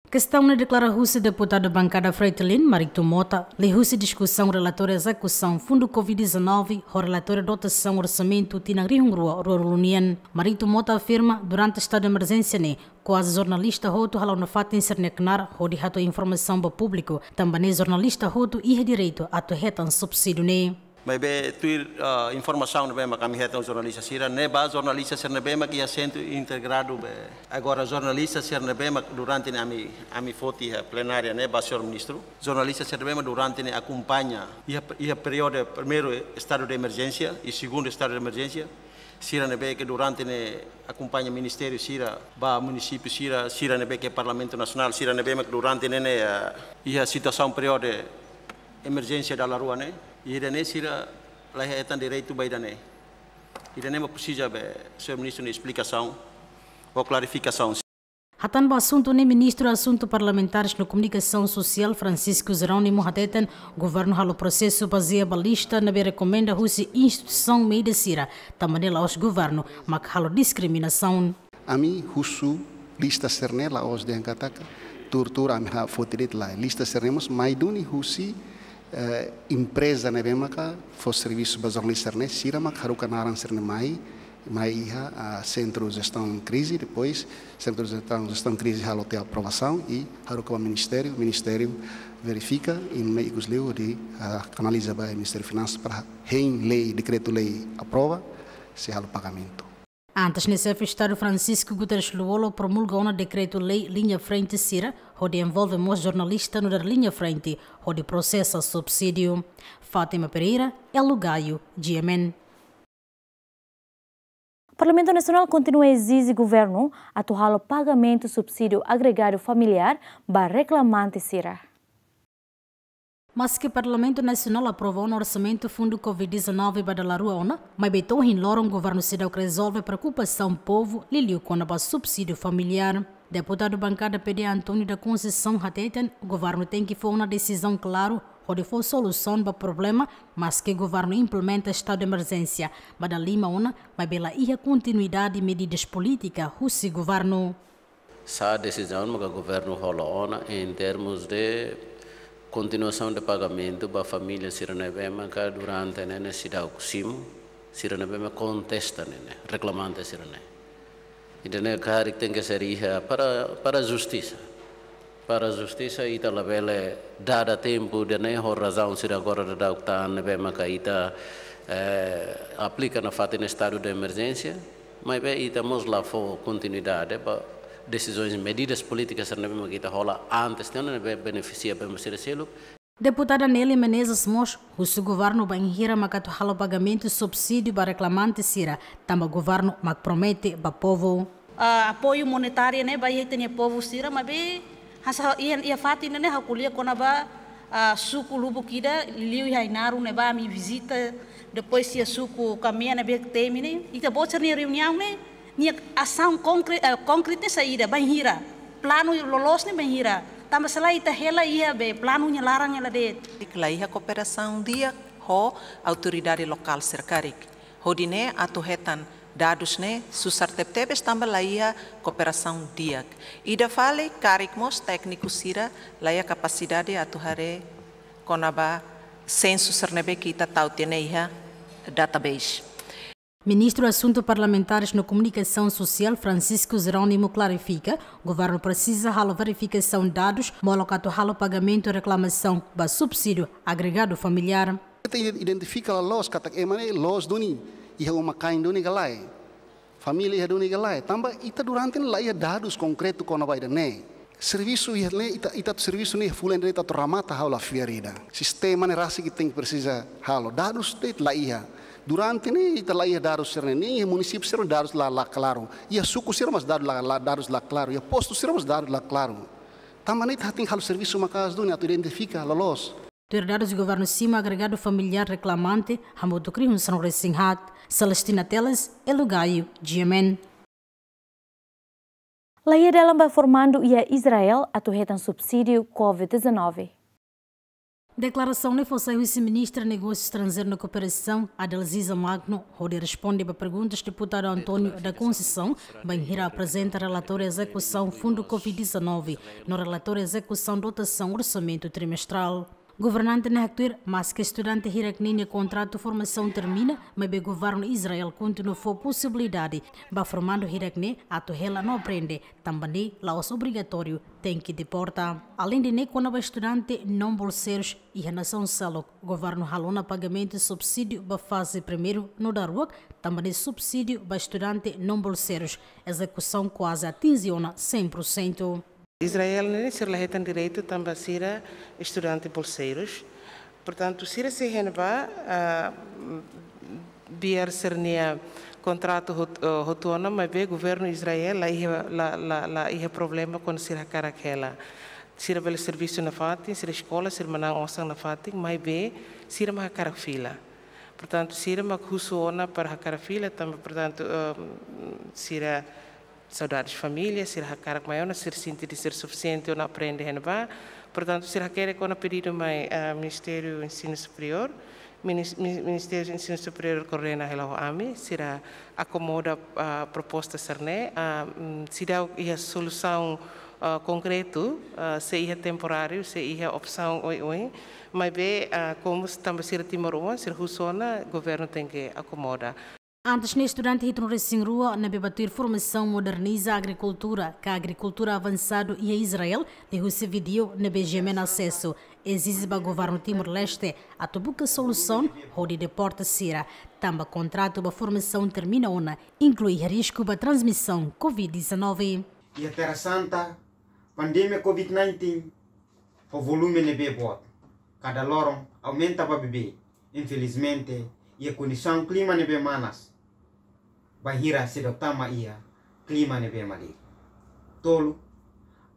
Kestaun ne'e deklara husi deputadu bankada Fretilin, Marito Mota, liuhusi diskusaun relatóriu ezekusaun fundu covid dezanove, ho relatóriu dotasaun orsamentu tinan rihun rua ruanulu nian. Marito Mota afirma, durante estadu de emerjénsia ne'e, kuaze jornalista hotu hala'o nafatin sira-nia knaar hodi hato'o informasaun ba públiku, tanba ne'e jornalista hotu iha direitu atu hetan subsídiu ne'e. Maibé tuir, ah, informasaun ne'ebé mak ami hetan jornalista sira, ne'ebá jornalista sira ne'ebé mak iha sentru integradu be. Agora jornalista sira ne'ebé mak durante ne'e ami, ami foti iha plenária ne'e ba señór ministru. Jornalista sira ne'ebé mak durante ne'e akompaña iha, iha períodu primeiru estadu de emerjénsia i segundu estadu de emerjénsia. Sira ne'ebé ke durante ne'e akompaña ministériu sira ba munisípiu sira, sira ne'ebé ke Parlamentu Nasionál, sira ne'ebé mak durante ne'e, ne'e, ah, iha situasaun períodu emerjénsia dala rua ne'e, ida-ne'e sira la hetan direitu ba ida-ne'e. Ida-ne'e mak presiza be señór ministru nia esplikasaun ou klarifikasaun. Hatán ba asuntu ne'e, Ministru Asuntu Parlamentares no Komunikasaun Sosiál Francisco Jerónimo hateten, governu halo prosesu bazeia ba lista ne'ebé rekomenda husi instituisaun média sira, tanba ne'e la'ós governu mak halo diskriminasaun. Ami husu lista sira-ne'e la'ós dehan katak tuur-tuur ami ha foti de'it, lae. Lista sira-ne'e mós mai duni husi, eh, empreza ne'ebé maka fó servisu ba jornalista sira-ne'e, sira mak haruka naran sira-ne'e mai, mai iha, ah, sentru jestaun krize, depois sentru jestaun, jestaun krize halo tiha aprovasaun i haruka ba ministériu, ministériu verifika i nune'e ikus liu hodi, ah, kanaliza ba Ministériu Finansas para hein lei, dekretu-lei aprova, sei halo pagamentu. Antes ne'e, Xefe Estadu Francisco Guterres Lú-Olo promulga ona dekretu-lei liña frente sira, hodi envolve mós jornalista nu'udar liña frente, hodi prosesa subsídiu. Fátima Pereira, Elo Gaio, G M N. Parlamentu Nasionál kontinua ezije governu atu halo pagamentu subsídiu agregadu familiár ba reklamante sira. Maske Parlamentu Nasionál aprova ona orsamentu fundu covid dezanove ba dala rua ona, maibé to'o ohin loron governu seidauk rezolve preokupasaun povu liuliu kona-ba subsídiu familiár. Deputadu bankada P D António da Conceição hateten, governu tenke fó ona desizaun klaru hodi fó solusaun ba problema, maske governu implementa estadu de emerjénsia ba dala lima ona, maibé la iha kontinuidade medidas polítika husi governu. Sá desizaun maka governu hola ona em termos de continuação de pagamento ba família sira ne'ebé maka durante ne'e ne'e seidauk simu, sira ne'ebé maka kontesta ne'e ne'e, reklamante sira ne'e. Ida-ne'e karik tenke ser iha para, para justisa. Para justisa, ita labele dada tempu ida-ne'e ho razaun sira agora daudaun tan ne'ebé maka ita, eh, aplika nafatin estadu de emerjénsia, maibé ita mós la fó kontinuidade ba desizaun, medidas polítikas sira ne'ebé maka ita hola antes tiha ona ne'ebé benefisia ba ema sira seluk. Deputada Nelly Menezes mós husu governu bainhira mak atu halo pagamentu subsídiu ba reklamante sira, tanba governu mak promete ba povu. Ah, apoiu monetáriu ne'e ba iha ita-nia povu sira, maibé hanesan iha, iha fatin ne'e ha'u ko'alia kona-ba, ah, suku lubuk ida, liuliu iha Ainaro ne'ebá ami vizita, depois iha suku Kamea ne'ebé temi ne'e, ita-boot sira-nia reuniaun ne'e, nia asaun konkre-, eh, konkretu ne'e saida, bainhira, planu loloos ne'e bainhira, tanba se lae ita hela iha be planu nia laran hela de'it. La iha kooperasaun di'ak ho autoridade lokál sira karik. Hodi nune'e atu hetan dadus ne'e susar tebetebes tanba la iha kooperasaun di'ak. Ida fali karik mós tékniku sira la iha kapasidade atu haree kona-ba sensu sira ne'ebé ke ita tau tiha ne'e iha database. Ministru Asuntu Parlamentares no Komunikasaun Sosiál Francisco Jerónimo klarifika, governu presiza halo verifikasaun dadus molok atu halo pagamentu reklamasaun ba subsídiu agregadu familiár. Ita identifika loloos katak ema ne'e loos duni, iha uma-kain duni ka lae, família iha duni ka lae. Tanba ita durante ne'e la iha dadus konkretu kona-ba ida-ne'e. Servisu iha ne'e, ita, ita atu servisu ne'e fulan ida atu remata, ha'u la fiar ida. Sistema ne'e rasik ita tenke presiza halo. Dadus de'it la iha. Durante ne'e ita la iha dadus sira-ne'e, ne'e iha munisípiu sira dadus la, la klaru. Iha suku sira mós dadus la, la, dadus la klaru. Iha postu sira mós dadus la klaru. Tanba ne'e ita tenke halo servisu maka'as duni atu identifika loloos. Tuir dadus governu simu agregadu familiár reklamante hamutuk rihun sanulu-resin-haat. Celestina Teles, Elo Gaio, G M N. La iha dalan ba formandu iha Israel atu hetan subsídiu covid dezanove. Deklarasaun ne'e fó sai husi Ministra Negósiu Estranjeiru no Kooperasaun, Adalziza Magno, hodi responde ba perguntas Deputadu António da Conceição, bainhira aprezenta relatóriu ezekusaun fundu covid dezanove, no relatóriu ezekusaun dotasaun orsamentu trimestrál. Governante ne'e haktuir, maske estudante hirak-ne'e nia kontratu formasaun termina, maibé governu Israel kontinua fó posibilidade ba formandu hirak-ne'e atu hela no aprende, tanba ne'e la'ós obrigatóriu tenke deporta. Aleinde ne'e, kona-ba estudante non bolseirus iha nasaun seluk, governu halo ona pagamentu subsídiu ba faze primeiru no daruak, tanba ne'e subsídiu ba estudante non bolseirus ezekusaun kuaze atinje ona cem por cento. Israel ne'e sira la hetan direitu tanba sira estudante bolseirus. Portantu, sira sei iha ne'ebá, ah, biar sira-nia kontratu hot-, eh, hotu ona, maibé governu Israel la iha, la, la, la iha problema kuandu sira hakarak hela. Sira bele servisu nafatin, sira eskola, sira manán osan nafatin, maibé sira mak hakarak fila. Portantu, sira mak husu ona para hakarak fila, tanba, portantu, eh, sira saudades família, sira hakarak mai ona, sira sente de'it sira sufisiente ona aprende iha ne'ebá. Portantu, sira hakerek ona pedidu mai, ah, Ministériu Ensinu Superiór. Minis-, mi-, Ministériu Ensinu Superiór koordena hela ho ami, sira akomoda, ah, proposta sira-ne'e, ah, mm, seidauk iha solusaun, ah, konkretu, ah, sei iha temporáriu, sei iha opsaun oioin, maibé, ah, komu tanba sira timoroan, sira husu ona, governu tenke akomoda. Antes ne'e, estudante hitunulu-resin-rua ne'ebé bá tuir formasaun moderniza agrikultura ka agrikultura avansadu iha Israel, liuhusi vídeo ne'ebé GMN asesu, ezije ba governu Timor-Leste atu buka solusaun hodi deporta sira, tanba kontratu ba formasaun termina ona, inklui risku ba transmisaun covid dezanove. Iha Terra Santa, pandemia covid nineteen ho volume ne'ebé boot. Kada loron aumenta ba beibeik. Infelizmente, iha kondisaun klima ne'ebé manas, bainhira seidauk tama iha klima ne'ebé malirin. Tolu,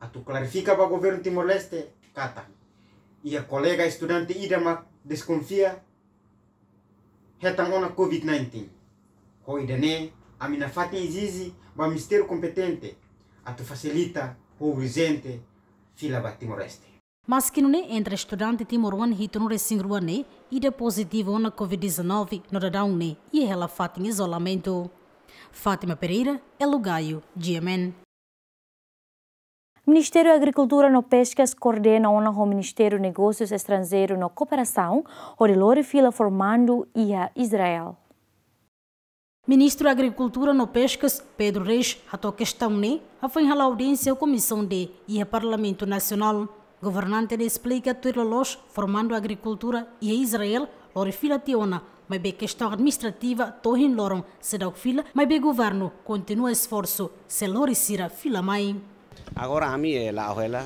atu klarifika ba governu Timor-Leste katak iha kolega estudante ida mak deskonfia hetan ona covid nineteen. Ho ida-ne'e, ami nafatin ezije ba ministériu kompetente atu fasilita ho urjente fila ba Timor-Leste. Maske nune'e, entre estudante timoroan hitunulu-resin-rua ne'e ida pozitivu ona covid dezanove, no daudaun ne'e iha hela fatin izolamentu. Fátima Pereira, Elo Gaio, GMN. Ministériu Agrikultura no Peskas koordena ona ho Ministériu Negósius Estranjeiru no Kooperasaun hodi lori fila formandu iha Israel. Ministru Agrikultura no Peskas, Pedro Reis, hato'o kestaun ne'e hafoin hala'o audiénsia ho Komisaun D iha Parlamentu Nasionál. Governante ne'e esplika tuir loloos formandu agrikultura iha Israel lori fila tiha ona, maibé kestaun administrativa to'o ohin loron seidauk fila, maibé governu kontinua esforsu sei lori sira fila mai. Agora ami, eh, la'o hela,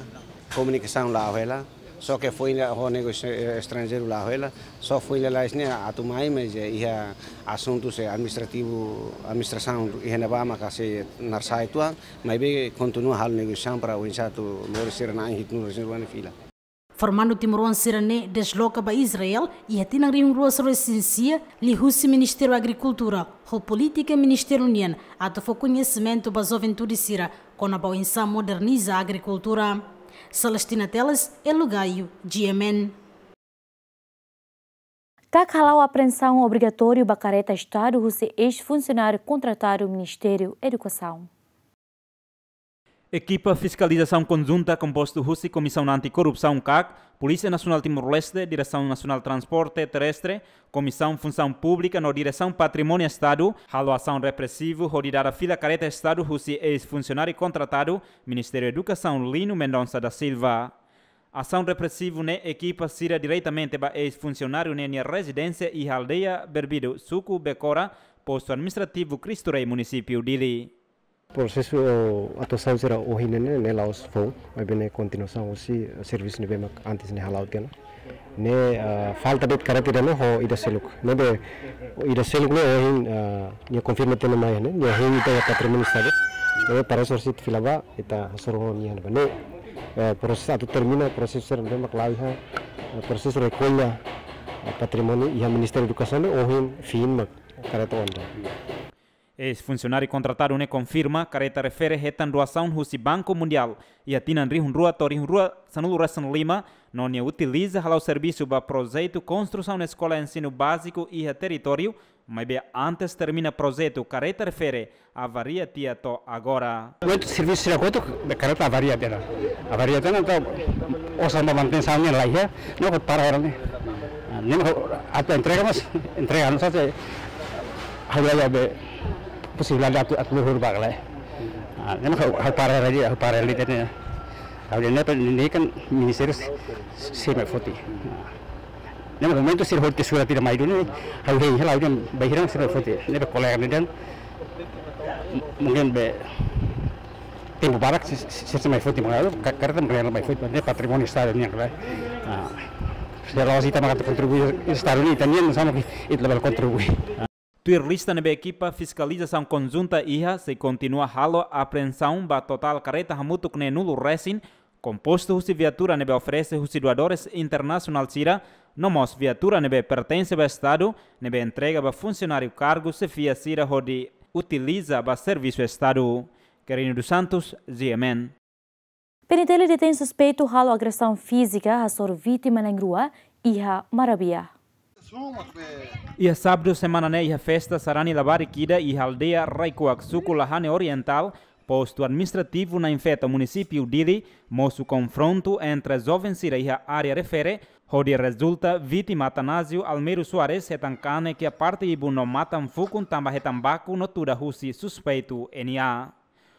komunikasaun la'o hela, só ke foin la ho negósiu, eh, estranjeiru la'o hela, só foin lalais ne'e atu mai, mas, eh, iha asuntu sei administrativu, administrasaun iha ne'ebá maka sei narsai tuan, maibé kontinua halo negosiasaun para oinsá atu lori sira na'in hitunulu-resin-rua ne'e fila. Formandu timoroan sira-ne'e desloka ba Israel iha tinan rihun rua sanulu-resin-sia, liuhusi Ministériu Agrikultura ho polítika ministériu nian atu fó koñesimentu ba juventude sira kona-ba oinsá moderniza agrikultura. Celestina Teles, Elo Gaio, GMN. KAK hala'o apreensaun obrigatóriu ba kareta Estadu husi eis-funsionáriu kontratadu Ministériu Edukasaun. Ekipa fiskalizasaun konjunta kompostu husi Komisaun Antikorrupsaun, KAK, Polísia Nasionál Timor-Leste, Diresaun Nasionál Transporte Terrestre, Komisaun Funsaun Públika no Diresaun Patrimóniu Estadu, halo asaun represivu hodi dada fila kareta Estadu husi eis-funsionáriu kontratadu Ministériu Edukasaun, Lino Mendonça da Silva. Asaun represivu ne'e ekipa sira diretamente ba eis-funsionáriu ne'e nia rezidénsia iha aldeia Berbidu, suku Becora, postu administrativu Cristo Rei, munisípiu Dili. Prosesu, eh, atuasaun sira ohin ne'e, ne'e la'ós foun, maibé ne'e kontinuasaun husi servisu ne'ebé mak antes ne'e hala'o tiha ona. Ne'e, eh, falta de'it kareta ida-ne'e ho ida seluk. Ne'ebé ida seluk ne'e ohin, eh, nia konfirma tiha ona mai ne'e, nia ohin ita iha Patrimóniu Estadu. Ne'ebé para sorsit fila ba, ita hasoru ho nia ne'ebá. Ne'e, eh, prosesu atu termina, prosesu sira ne'ebé mak la'o iha, eh, prosesu rekolla, eh, patrimóniu iha Ministériu Edukasaun ne'e ohin fin mak kareta ona. Eis-funsionáriu kontratadu ne'e konfirma kareta refere hetan doasaun husi Banku Mundiál iha tinan rihun rua to'o rihun rua sanulu-resin-lima, no nia utiliza hala'o servisu ba projetu konstrusaun eskola ensinu báziku iha territóriu, maibé antes termina projetu kareta refere avaria tiha to'o agora. Ko'alia servisu sira kotuk, be kareta avaria tiha ona. Avaria tiha ona, entaun osan ba manutensaun ne'e laiha, no ha'u para hela ne'e. Ah, ne'e mak atu entrega, mas entrega anu saja. Ha'u la iha be posibilidade atu, atu luhur ba lai. Ah, ne'e mak ha'u, ha'u para hela, ha'u para hela tiha ona. Ha'u dehan ne'e, ne'e kan ministériu sei mai foti. Ah. Ne'e mak momentu sira hotu surat tidak mai duni, ha'u hein hela, ha'u dehan bainhira sira mai foti. Ne'ebé kolega ne'e dehan, mungkin be tempu barak sira, sira, sira mai foti, maka ka-, kareta mungkin mai foti, ne'e patrimóniu Estadu nian, kan. Ah. Sira la'ós ita mak atu kontribui, Estadu nian, ita-nian, sama ki, ita labele kontribui. Tuir lista ne'ebé ekipa fiskalizasaun konjunta iha, sei kontinua halo apreensaun ba totál kareta hamutuk neenulu resin, kompostu husi viatura ne'ebé oferese husi doadores internasionál sira, no mós viatura ne'ebé pertense ba Estadu, ne'ebé entrega ba funsionáriu kargu xefia sira hodi utiliza ba servisu Estadu. Quirino dos Santos, G M N. P N T L detein suspeitu halo agresaun fízika hasoru vítima na'in-rua iha Marabia. Iha sábadu semana ne'e iha festa sarani labarik ida iha aldeia Raikuak, suku Lahane Orientál, postu administrativu Nainfeto, munisípiu Dili, mosu konfrontu entre joven sira iha área refere, hodi rezulta vítima Atanásio Almeiro Soares hetan kanek iha parte ibun no matan fukun tanba hetan baku no tuda husi suspeitu N A.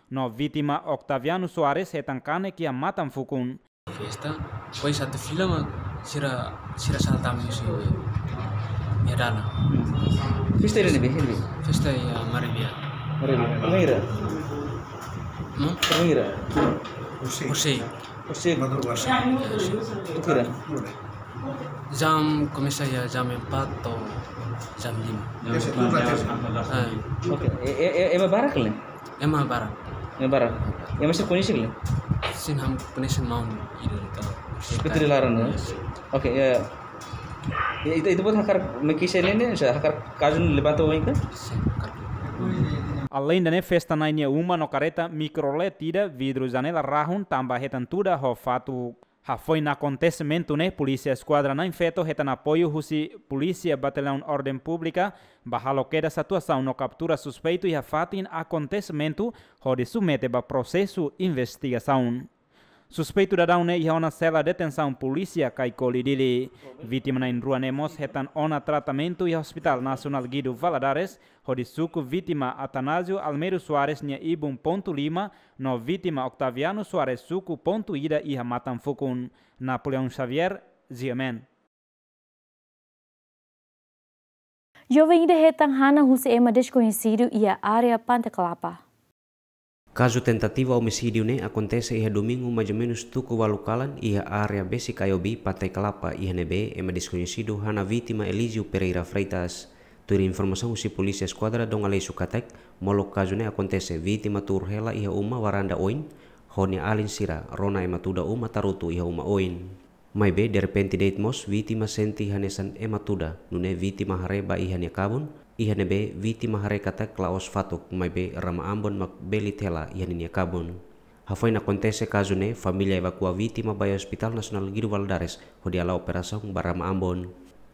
No vítima Octaviano Soares hetan kanek iha matan fukun. Festa, depois atu fila mak sira, sira salta ami husi iha dalan. Festa iha ne'ebé, iha ne'ebé? Festa iha Marabia. Marabia. Primeira. Hmm? Primeira. Por sei. Por sei. Madrugada. Por sei. Jam komesa iha jam empat to'o jam lima. Jam empat. Ah. Oke, e, e, e, ema barak ka lae? Ema barak. Ema barak. Ema sira koñese ka lae? Sin, ha'u koñese maun ida de'it. Seperti di laran, no? Yes. Oke, ya. Ya, ita, ita-boot hakarak mekise ne'e, sa hakarak kazu ne'e levanta oin ka? Sin, hakarak. Aleinde ne'e, festa na'in nia uma no kareta mikrolet ida, vidru janela rahun tanba hetan tuda ho fatuk. Hafoin akontesimentu ne'e, Polísia Eskuadra Nainfeto hetan apoiu husi Polísia Batallaun Orden Públika ba halo kedas situasaun no kaptura suspeitu iha fatin akontesimentu hodi submete ba prosesu investigasaun. Suspeitu daudaun ne'e iha ona sela detensaun polísia Caicoli Dili. Vítima na'in-rua ne'e mós hetan ona tratamentu iha Hospitál Nasionál Guido Valadares, hodi suku vítima Atanásio Almeiro Soares nia ibun pontu lima, no vítima Octaviano Soares suku pontu ida iha matan fukun. Napoleão Xavier, G M N. Joven ida hetan hanan husi ema deskoñesidu iha área Pante Kelapa. Kazu tentativa omisídiu ne'e akontese iha domingu maizumenus tuku ualu kalan iha área Besik Ayobi, Pante Kelapa, iha ne'ebé ema deskoñesidu hanan vítima Elísio Pereira Freitas. Tuir informasaun husi Polísia Eskuadra Dom Aleixo katak, molok kazu ne'e akontese, vítima tuur hela iha uma waranda oin, ho nia alin sira, rona ema tuda uma tarutu iha uma oin. Maibé derrepente de'it mós vítima sente hanesan ema tuda, nune'e vítima haree ba iha nia kabun, iha ne'ebé vítima haree katak la'ós fatuk, maibé rama-ambon mak belit hela iha ninia kabun. Hafoin akontese kazu ne'e, família evakua vítima ba iha Hospitál Nasionál Guido Valadares, hodi hala'o operasaun ba rama-ambon.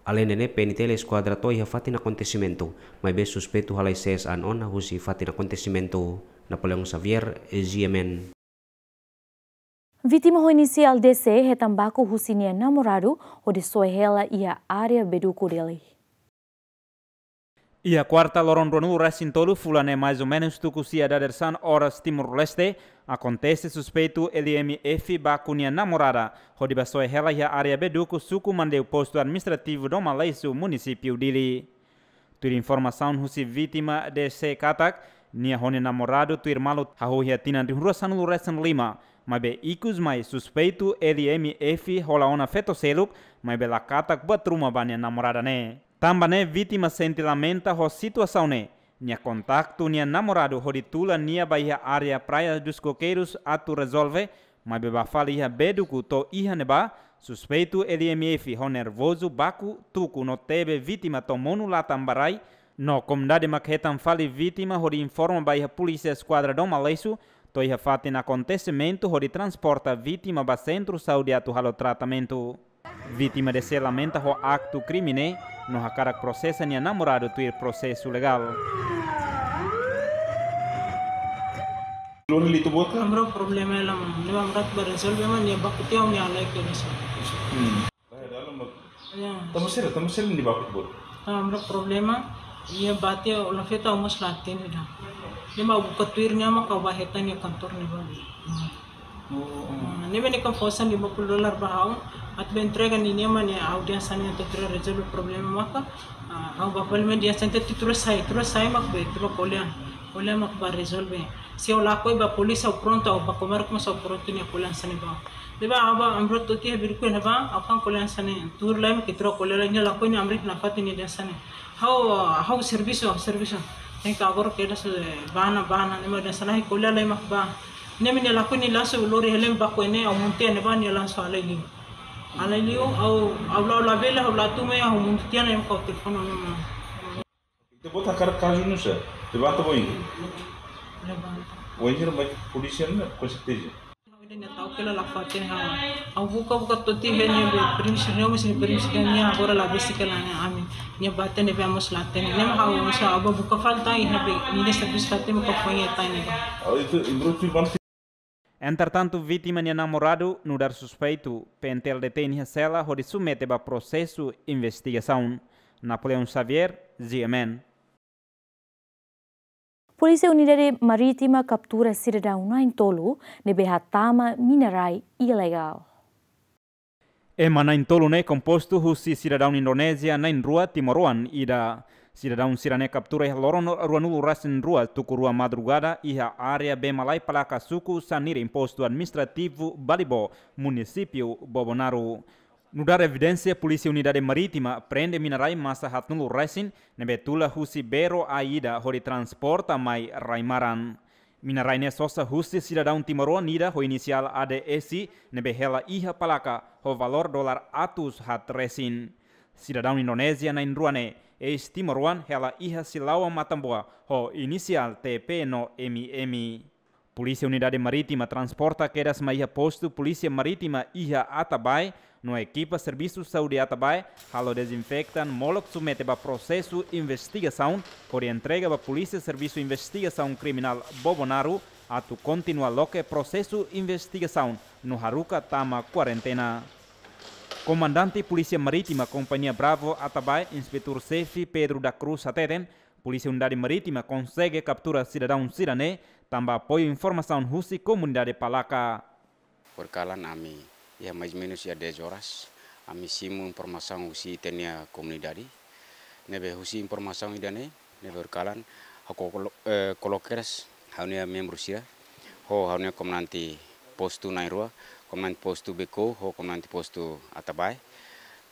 Aleinde ne'e, P N T L Eskuadra to'o iha fatin akontesimentu, maibé suspeitu halai sees an ona husi fatin akontesimentu. Napoleão Xavier, G M N. Vítima ho inisiál D C hetan baku husi nia namoradu hodi soe hela iha área Beduku, Dili. Iha kuarta loron ruanulu-resin-tolu fulan ne'e, maizumenus tuku sia dadeer-san oras Timor-Leste, akontese suspeitu L M F baku nia namorada hodi bá soe hela iha área Beduku, suku Mandeu, postu administrativu Dom Aleixo, munisípiu Dili. Tuir informasaun husi vítima D C katak, nia ho nia namoradu tuir malu hahú iha tinan rihun rua sanulu-resin-lima, maibé ikus mai suspeitu L M F hola ona feto seluk, maibé la katak buat ruma ba nia namorada ne'e. Tanba ne'e vítima sente lamenta ho situasaun ne'e, nia kontaktu nia namoradu hodi tula nia ba iha área Praia dos Coqueiros atu rezolve, maibé bá fali iha Beduku to'o iha ne'ebá, suspeitu L M F ho nervozu baku, tuku no tebe vítima to'o monu latan ba rai, no komunidade mak hetan fali vítima hodi informa ba iha Polísia Eskuadra Dom Aleixo, to'o iha fatin akontesimentu hodi transporta vítima ba sentru saúde atu halo tratamentu. Vítima D C lamenta ho aktu krime ne'e, no hakarak prosesa nia namoradu tuir prosesu legál. Lori litu bot ka? Amra problema ela, mama. Ne'ebé amra ba rezolve, mama, nia baku tiha nia lai ke nisa. Hmm. Ba dalam bot. Ya. Tama sira, tama sira nia baku bot. Amra problema, nia bate la feta, ha'u mós la hatene ida. Nia mak buka tuir, nia mak ba hetan nia kantor ne'ebá. Oh, oh. Ah, ne'ebé nia konfirma lima puluh dolar ba ha'u, atu ba entrega ninia, mama, nia audiénsia ne'e atu rezolve problema maka. Ah, ha'u ba parlimen dia sente tu tuur sai, tuur sai mak be, tuur ko'alia. Ko'alia mak ba rezolve. Se ha'u lakohi ba polísia ha'u prontu, ha'u ba komarka mós ha'u prontu nia ko'alia hanesan ne'ebá. Ne'ebá ha'u ba amra to'o tiha biriku ne'ebá, ha'u kan ko'alia hanesan ne'e. Tuur lai mak tuur ko'alia lai, nia lakohi nia amra nafatin nia hanesan ne'e. Ha'u, ha'u servisu, servisu. Tenke agora kedas, eh, bá ona, bá ona, ne'e mak hanesan ne'e, ko'alia lai mak bá. Ne'e mak nia lakohi nia langsung lori hela baku ne'e, ha'u monu tiha ne'ebá nia langsung halai liu. Halai liu, ha'u, ha'u la, la bele, ha'u la tun mai, ha'u monu tiha ne'e mak ha'u telefone ona, mama. Ita bota kazu nusá, levanta boin. Levanta. Boin, mas polísia ne'e, com certeza. Ha'u ida nia tau kela la fatin ha'u. Ha'u buka, buka to'o tiha ne'ebé, primisi, ne'e mós primisi nia agora la besik kela ne'e ami. Nia bate ne'ebé mós la hatene. Ne'e mak ha'u mós ha'u ba buka fali tan, ne'ebé nia servisu la hatene, buka foin tan ne'ebá. Oh, itu imbruk tu ban. Entretantu, vítima nia namoradu nu'udar suspeitu, P N T L detein iha sela hodi submete ba prosesu investigasaun. Napoleão Xavier, G M N. Polísia Unidade Marítima kaptura sidadaun na'in-tolu ne'ebé hatama mina-rai ilegál. Ema na'in-tolu ne'e kompostu husi sidadaun Indonézia na'in-rua, timoroan ida. Sidadaun sira-ne'e kaptura iha loron ruanulu-resin-rua tuku rua madrugada iha área Bee Malai Palaka, suku Saniri, postu administrativu Balibo, munisípiu Bobonaro. Nu'udar evidénsia, Polísia Unidade Marítima prende mina-rai masa haatnulu-resin ne'ebé tula husi bero ai ida hodi transporta mai rai-maran. Mina-rai ne'e sosa husi sidadaun timoroan ida ho inisiál A D S ne'ebé hela iha palaka ho valór dolar atus haat resin. Sidadaun Indonézia na'in-rua ne'e, eis-timoroan, hela iha Silaoa, Matamboa, ho inisiál T P no M M. Polísia Unidade Marítima transporta kedas mai iha postu Polísia Marítima iha Atabae, no ekipa Servisu Saúde Atabae halo dezinfeta molok submete ba prosesu investigasaun, hodi entrega ba Polísia Servisu Investigasaun Kriminál Bobonaro, atu kontinua loke prosesu investigasaun no haruka tama kuarentena. Komandante Polísia Marítima Kompañia Bravo Atabae, Inspetór Xefe Pedro da Cruz hateten, Polísia Unidade Marítima konsege kaptura sidadaun sira-ne'e tanba apoiu informasaun husi komunidade palaka. Horikalan ami iha mais menus iha dez horas, ami simu informasaun husi ita-nia komunidade. Ne'ebé husi informasaun ida-ne'e, ne'ebé horikalan, ha'u kolo-, eh, koloke kedas ha'u-nia membru sira, ho ha'u-nia komandante postu na'in-rua, komandante postu Beko, ho komandante postu Atabae.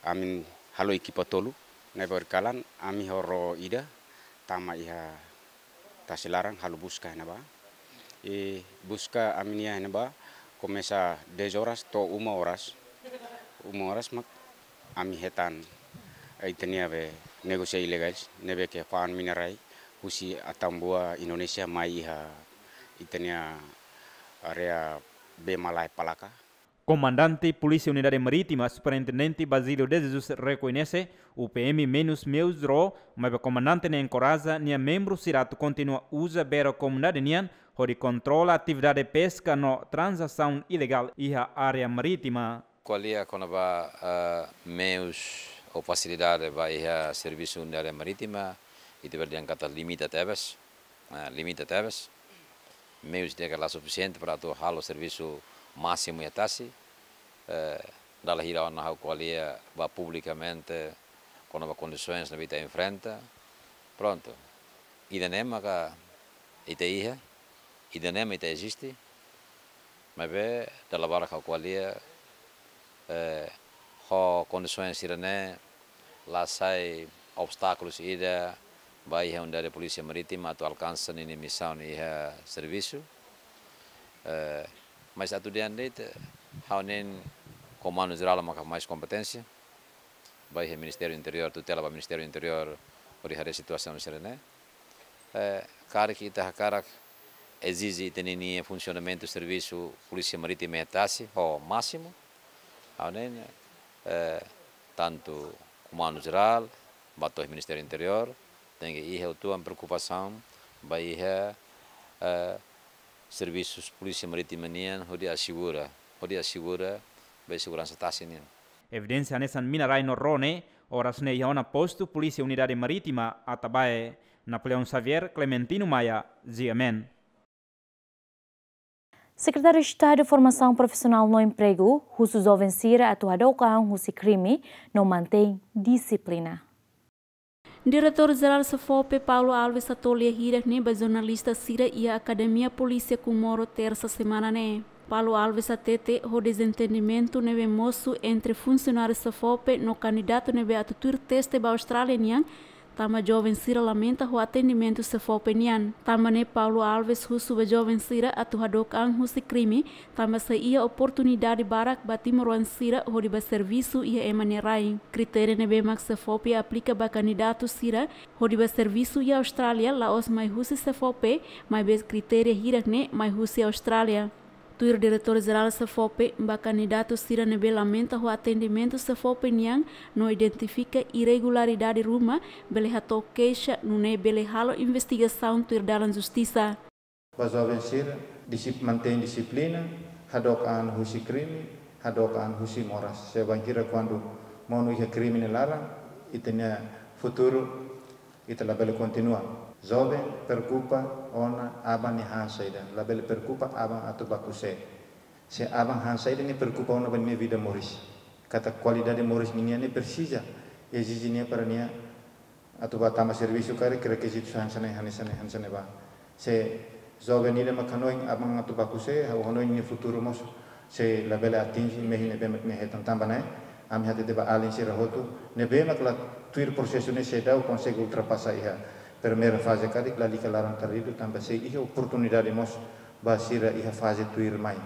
Ami halo ekipa tolu, ne'ebé horikalan, ami ho ró ida, tama iha tasi laran halo buska iha ne'ebá. I buska ami-nia iha ne'ebá komesa dez horas to'o uma horas. Uma horas mak ami hetan, eh, ita-nia be negósiu ilegál, ne'ebé ke fa'an mina-rai husi Atambua, Indonézia, mai iha ita-nia área Bee Malai Palaka. Komandante Polísia Unidade Marítima, Superintendente Basílio de Jesus, rekoñese, U P M menus meus ró, maibé komandante ne'e enkoraja nia membru sira atu kontinua uza bero komunidade nian, hodi kontrola atividade peska no tranzasaun ilegál iha área marítima. Ko'alia kona-ba, eh, meius ou fasilidade ba iha Servisu Unidade Marítima, ita bele dehan katak limita tebes. Eh, limita tebes. Meius ida-ne'e la sufisiente para atu halo servisu másimu iha tasi. Eh, dala hira ona ha'u ko'alia ba publikamente kona-ba kondisoens ne'ebé ita enfrenta. Prontu. Ida-ne'e maka ita iha, ida-ne'e mak ita eziste. Maibé dala barak ha'u ko'alia, eh, ho kondisoens sira-ne'e la sai obstákulus ida ba iha Unidade Polísia Marítima atu alkansa ninia misaun iha servisu. Eh, mas atu dehan de'it, ha'u hanoin Komandu Jerál maka mais kompeténsia. Ba iha Ministériu Interiór, tutela ba Ministériu Interiór, hodi haree situasaun sira-ne'e. Eh, karik ita hakarak ezije ita-nia funsionamentu servisu Polísia Marítima iha tasi ho másimu. Ha'u hanoin, eh, tantu Komandu Jerál, ba to'o Ministériu Interiór, tenke iha uitoan preokupasaun ba iha, eh, servisu Polísia Marítima nian hodi asegura, hodi asegura ba seguransa tasi nian. Evidénsia hanesan mina-rai no ró ne'e, oras ne'e iha ona postu Polísia Unidade Marítima Atabae. Napoleão Xavier, Clementino Maia, G M N. Sekretáriu Estadu Formasaun Profisionál no Empregu husu joven sira atu hadook an husi krime no mantein dixiplina. Diretór Jerál SEFOPE, Paulo Alves, hato'o lia hirak ne'e ba jornalista sira iha Akademia Polísia Comoro, Tersa semana ne'e. Paulo Alves hatete, ho dezentendimentu ne'ebé mosu entre funsionáriu SEFOPE no kandidatu ne'ebé atu tuir teste ba Austrália nian, tanba joven sira lamenta ho atendimentu SEFOPE nian. Tanba ne'e Paulo Alves husu ba joven sira atu hadook an husi krime, tanba sei iha oportunidade barak ba timoroan sira hodi bá servisu iha ema nia rai. Kritériu ne'ebé mak SEFOPE aplika ba kandidatu sira hodi bá servisu iha Austrália la'ós mai husi SEFOPE, maibé kritériu hirak ne'e mai husi Austrália. Tuir Diretór Jerál SEFOPE, ba kandidatu sira ne'ebé lamenta ho atendimentu SEFOPE nian no identifika irregularidade ruma, bele hato'o keixa, nune'e bele halo investigasaun tuir dalan justisa. Ba joven sira, disip-, mantein dixiplina, hadook an husi krime, hadook an husi moras. Se bainhira kuandu monu iha krime nia laran, ita-nia futuru ita labele kontinua. Joven preokupa ona aban nia han saida, labele preokupa aban atu bá ku'u sé. Se aban han saida, nia preokupa ona ba nia vida moris. Katak kualidade moris ninian ne'e presiza, ezije nia para nia atu bá tama servisu karik rekizitu hanesan ne'e, hanesan ne'e, hanesan ne'ebá. Se joven ida mak hanoin aban atu bá ku'u sé, ha'u hanoin nia futuru mós sei labele atinje mehi ne'ebé mak nia hetan. Tanba ne'e, ami hatete ba alin sira hotu ne'ebé mak la tuir prosesu ne'e, seidauk konsege ultrapasa iha primeira faze karik, lalika laran-tardídu, tanba sei iha oportunidade mós ba sira iha faze tuirmai.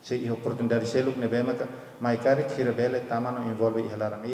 Sei iha oportunidade seluk ne'ebé mak mai karik sira bele tama no envolve iha laran.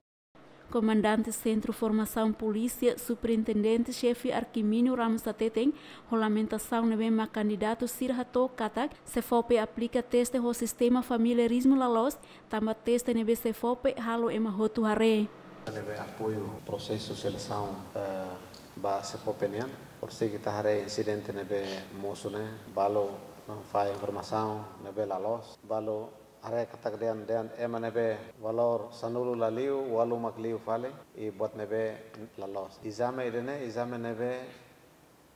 Komandante Sentru Formasaun Polísia, Superintendente Xefe Arquimino Ramos hateten, ho lamentasaun ne'ebé mak kandidatu sira hato'o katak SEFOPE aplika teste ho sistema familiarizmu la loos, tanba teste ne'ebé SEFOPE halo ema hotu haree. Ne'ebé apoiu prosesu selesaun, eh, ba SEFOPE nian. Por se ita haree insidente ne'ebé mosu ne'e, balu, no, fahe informasaun ne'ebé la loos, balu haree katak dehan, dehan ema ne'ebé valór sanulu la liu, ualu mak liu fali, i buat ne'ebé la loos. Ezame ida-ne'e, ezame ne'ebé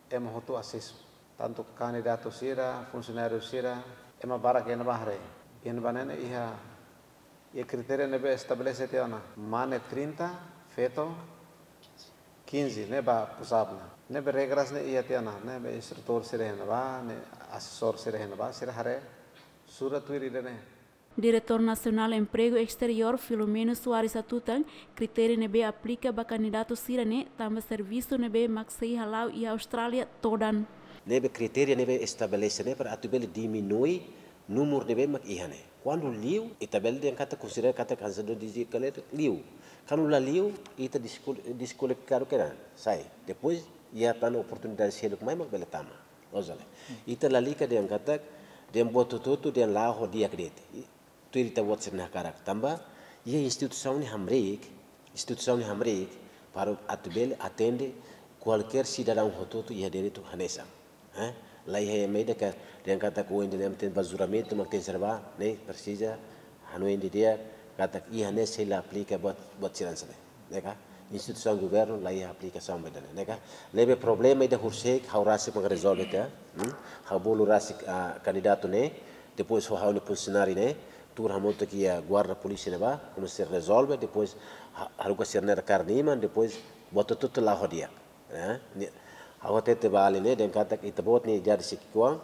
ema hotu asesu. Tantu kandidatu sira, funsionáriu sira, ema barak iha ne'ebá haree. Iha ne'ebá ne'e iha, iha kritériu ne'ebé estabelese tiha ona. Mane trinta, feto quinze, ne'e ba pusat ona. Ne'ebé regras ne'e iha tiha ona, ne'ebé instrutór sira iha ne'ebá, ne'e asesór sira iha ne'ebá, sira haree surat tuir ida-ne'e. Diretór Nasionál Empregu Esteriór, Filomeno Soares hatutan, kritériu ne'ebé aplika ba kandidatu sira-ne'e tanba servisu ne'ebé mak sei hala'o iha Austrália todan. Ne'ebé kritériu ne'ebé estabelese ne'e para atu bele diminui númeru ne'ebé mak iha ne'e. Kuandu liu, ita bele dehan katak konsidera katak kansador de kaleta liu. Kuandu la liu, ita diskul-, deskualifikadu kedan, sai. Depois, iha tan oportunidade seluk mai mak bele tama. Loos ka lae? Ita lalika dehan katak, dehan buat hotu-hotu, dehan la'o ho di'ak de'it. Tuir ita-boot sira-nia hakarak. Tanba, iha instituisaun ne'e hamriik, instituisaun ne'e hamriik, para atu bele atende kualkér sidadaun hotu-hotu iha direitu hanesan. Eh? La iha ema ida ke dehan katak ohin dehan ema tenke bá juramentu, mak tenke serba, ne'e presiza hanoin didi'ak, katak iha ne'e sei la aplika buat, buat sira hanesan ne'e. Ne'e ka? Instituisaun governu la iha aplikasaun ba ida-ne'e, ne'e ka? Ne'ebé problema ida horiseik, ha'u rasik mak rezolve tiha, hmm? Ha'u bolu rasik, ah, kandidatu ne'e, depois ho ha'u-nia funsionáriu ne'e, tuur hamutuk iha guarda polísia ne'ebá, komesa rezolve, depois ha-, haruka sira-nia kaer-niman, depois buat hotu-hotu la'o ho di'ak, eh? Ne'e, ha'u hatete ba alin ne'e, dehan katak ita-boot nia idade sei ki'ikoan,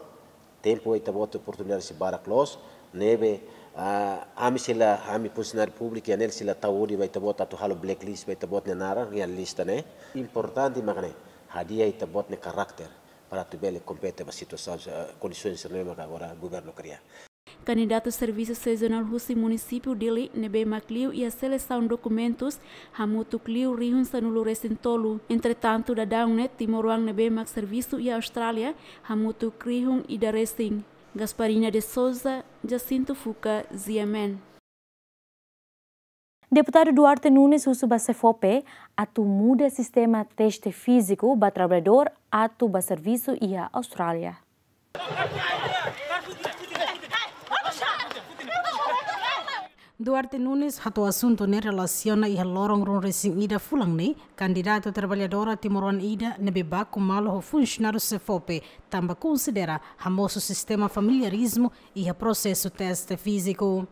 tempu ita-boot oportunidade sei barak loos, ne'ebé, ah, ami sei la, ami funsionáriu públiku iha ne'e sei la tau hodi ba ita-boot atu halo blacklist ba ita-boot nia naran iha lista ne'e. Importante mak ne'e, hadi'a ita-boot nia karakter para atu bele kompete ba situasaun, eh, kondisaun sira-ne'e mak agora governu kria. Kandidatu servisu sezonál husi munisípiu Dili ne'ebé mak liu iha selesaun dokumentus hamutuk liu rihun sanulu resin tolu. Entretantu, daudaun ne'e timoroan ne'ebé mak servisu iha Austrália hamutuk rihun ida resin. Gasparina de Souza, Jacinto Fuca, G M N. Deputadu Duarte Nunes husu ba SEFOPE atu muda sistema teste fíziku ba traballadór atu ba servisu iha Austrália. Duarte Nunes hato'o asuntu ne'e relasiona iha loron ruanulu resin ida fulan ne'e, kandidatu traballadora timoroan ida ne'ebé baku malu ho funsionáriu SEFOPE, tanba konsidera hamosu sistema familiarizmu iha prosesu teste fíziku.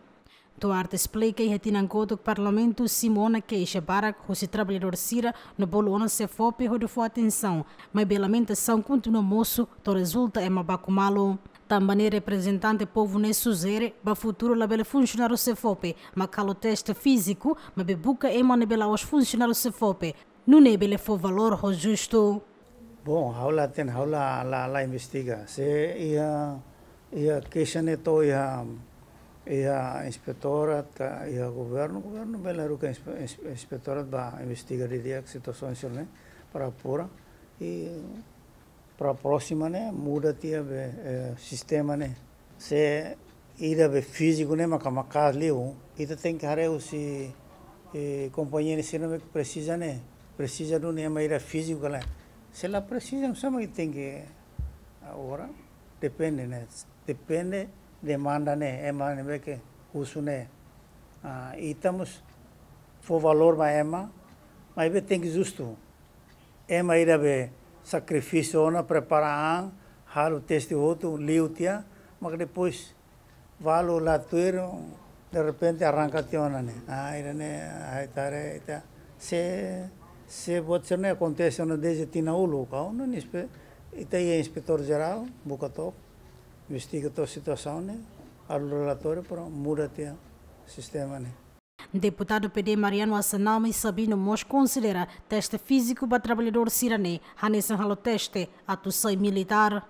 Duarte esplika iha tinan kotuk Parlamentu simu ona keixa barak husi traballadór sira no bolu ona SEFOPE hodi fó atensaun, maibé lamentasaun kontinua mosu to'o rezulta ema baku malu. Tanba ne'e reprezentante povu ne'e sujere ba futuru labele funsionáriu SEFOPE mak halo teste fíziku, maibé buka ema ne'ebé la'ós funsionáriu SEFOPE, nune'e bele fó valór ho justu. Bom, ha'u la hatene, ha'u la, la, la investiga. Se iha, iha keixa ne'e to'o iha, iha inspetora ka iha governu, governu bele haruka inspe-, ins-, inspetora ba investiga didi'ak situasaun sira-ne'e para apura. I para prósima ne'e muda tiha be, eh, sistema ne'e. Se ida be fíziku ne'e maka maka'as liu, ita tenke haree husi, eh, kompañia ne'e sira ne'ebé presiza ne'e, presiza duni ema ida fíziku ka lae. Se la presiza, nusá mak tenke agora, depende ne'e, depende demanda ne'e, ema ne'ebé ke husu ne'e. Ah, ita mós fó valór ba ema, maibé tenke justu. Ema ida be sakrifísiu ona, prepara an, halo teste hotu, liu tiha, mak depois balu la tuir, derrepente arranka tiha ona ne'e. Ah, ida-ne'e, ai tare, ita. Se, se buat sira-ne'e akontese ona dezde tinan uluk, kau no nispe, ita iha inspetór jerál, buka took, investiga took situasaun ne'e, halo relatóriu para muda tiha sistema ne'e. Deputadu P D Mariano Assanami Sabino mós konsidera teste fíziku ba traballadór sira-ne'e hanesan halo teste atu sai militár.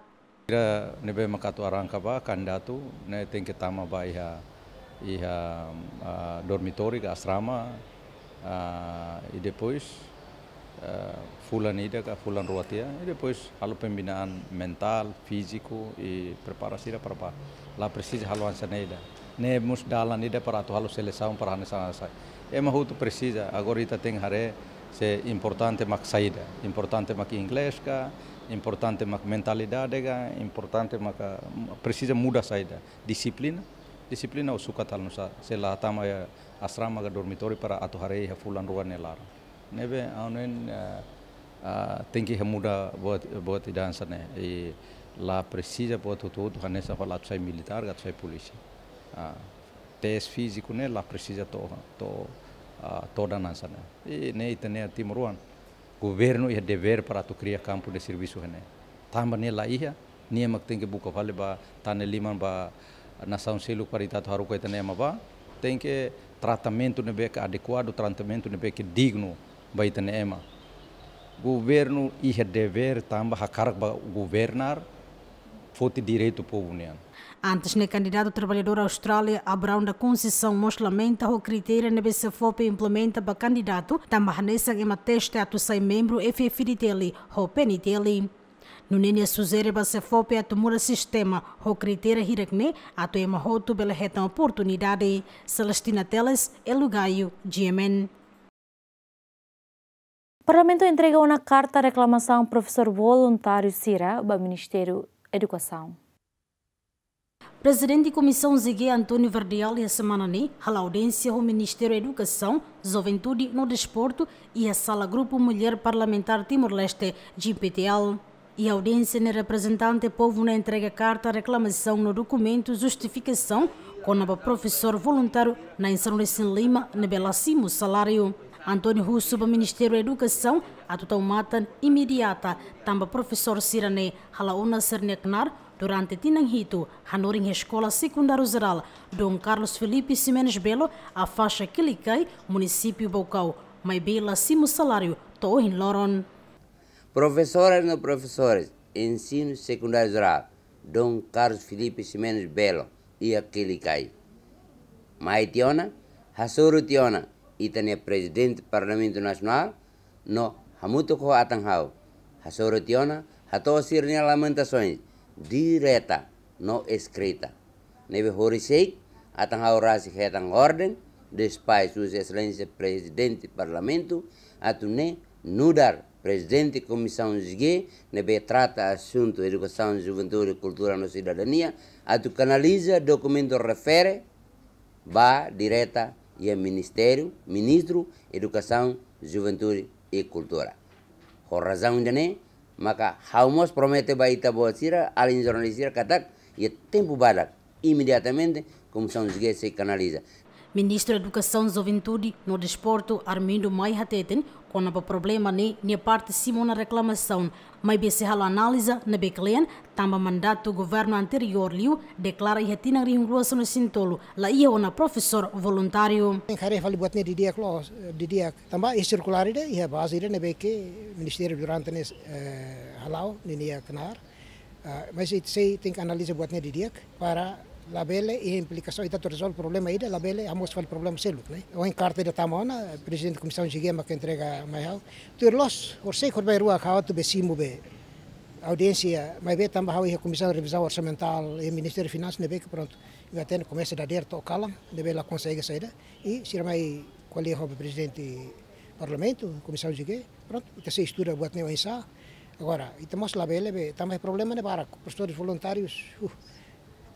Sira ne'ebé mak atu arranka ba kandidatu ne'e tenke tama ba iha, iha, ah, dormitóriu ka asrama, ah, i depois, eh, fulan ida ka fulan rua tiha, i depois halo pembinaan mentál, fíziku, i prepara sira para ba. La presiza halo hanesan ne'e ida. Ne'e mós dalan ida para atu halo selesaun para hanesan sai. Ema hotu presiza, agora ita tenke haree se importante mak saida. Importante mak inglés ka, importante mak mentalidade ka, importante mak, ah, presiza muda saida. Dixiplina, dixiplina ou sukat halo nusá, se la tama iha asrama ka dormitóriu para atu haree iha fulan rua nia laran. Ne'ebé, ha'u hanoin, eh, ah, tenke iha muda buat, buat ida hanesan ne'e. I la presiza buat hotu-hotu hanesan fala atu sai militár, atu sai polísia. Ah, teste fíziku ne'e la presiza to'o, to'o, ah, todan hanesan ne'e. I ne'e ita-nia timoroan. Governu iha devér para atu kria kampu de servisu iha ne'e. Tanba ne'e la iha, nia mak tenke buka fali ba tane liman ba nasaun seluk para ita atu haruka ita-nia ema ba, tenke tratamentu ne'ebé ke adekuadu, tratamentu ne'ebé ke dignu ba ita-nia ema. Governu iha devér tanba hakarak ba governar, foti direitu povu nian. Antes ne'e kandidatu traballadór Austrália, Abraão da Conceição mós lamenta ho kritéria ne'ebé SEFOPE implementa ba kandidatu, tanba hanesan ema teste atu sai membru F F D T L ho P N T L. Nune'e nia sujere ba SEFOPE atu muda sistema ho kritéria hirak ne'e atu ema hotu bele hetan oportunidade. Celestina Teles, Elu Gaio, G M N. Parlamentu entrega ona karta reklamasaun profesór voluntáriu sira ba Ministériu Edukasaun. Prezidente Komisaun Z G António Verdial iha semana ne'e halo audiénsia ho Ministériu Edukasaun, Juventude no Desportu iha sala Grupu Mulher Parlamentár Timor-Leste, G P T L. Iha audiénsia ne'e reprezentante povu ne'e entrega karta reklamasaun no dokumentu justifikasaun kona-ba profesór voluntáriu na'in sanulu resin lima ne'ebé la simu saláriu. António husu ba Ministériu Edukasaun atu tau matan imediata tanba profesór sira-ne'e halo ona sira-nia knaar durante tinan hitu hanorin iha Eskola Sekundáriu Jerál Dom Carlos Filipe Ximenes Belo, Afaxa Kilikai, Munisípiu Baucau, maibé la simu saláriu to'o ohin loron. Profesoras no profesores Ensinu Sekundáriu Jerál Dom Carlos Filipe Ximenes Belo, iha Kelikai. Mai tiha ona, hasoru tiha ona ita-nia Prezidente Parlamentu Nasionál, no hamutuk ho atan ha'u, hasoru tiha ona, hato'o sira-nia lamentasoens direta no eskrita. Ne'ebé horiseik, atan ha'u rasik hetan orden, despais husi Exelénsia Prezidente Parlamentu, atu nu'udar Prezidente Komisaun G, ne'ebé trata asuntu edukasaun, juventude, kultura no sidadania, atu kanaliza dokumentu refere ba direta iha Ministériu, Ministru Edukasaun, Juventude e Kultura. Ho razaun ida-ne'e, maka ha'u mós promete ba ita-boot sira, alin jornalista sira katak, iha tempu badak, imediatamente, Komisaun G sei kanaliza. Ministru Edukasaun, Juventude no Desportu, Armindo Mai hateten, kona-ba problema ne'e, nia parte simu ona reklamasaun, maibé sei halo analiza ne'ebé kle'an, tanba mandatu governu anteriór liu deklara iha tinan rihun rua sanulu-resin-tolu, la iha ona profesór voluntáriu. Tenke haree fali buat ne'e didi'ak loos, didi'ak. Tanba iha sirkulár ida, iha baze ida ne'ebé ke Ministériu durante ne'e, eh, hala'o, ninia knaar. Ah, mas ita sei tenke analiza buat ne'e didi'ak para labele iha implikasaun, ita atu rezolve problema ida, labele hamoos fali problema seluk, ne'e. Ohin karta ida tama ona, Prezidente Komisaun G mak entrega mai ha'u. Tuir loos, horiseik horibainrua ha'u atu bá simu bá audiénsia, maibé tanba ha'u iha Komisaun Revizaun Orsamentál, iha Ministériu Finansas, ne'ebé ke prontu, iha tempu komesa dadeer to'o kalan, ne'ebé la konsege saida. I sira mai ko'alia ho Prezidente Parlamentu, Komisaun G, prontu, ita sei estuda buat ne'e oinsá. Agora, ita mós labele bá, tanba problema ne'e barak, profesores voluntárius, uh,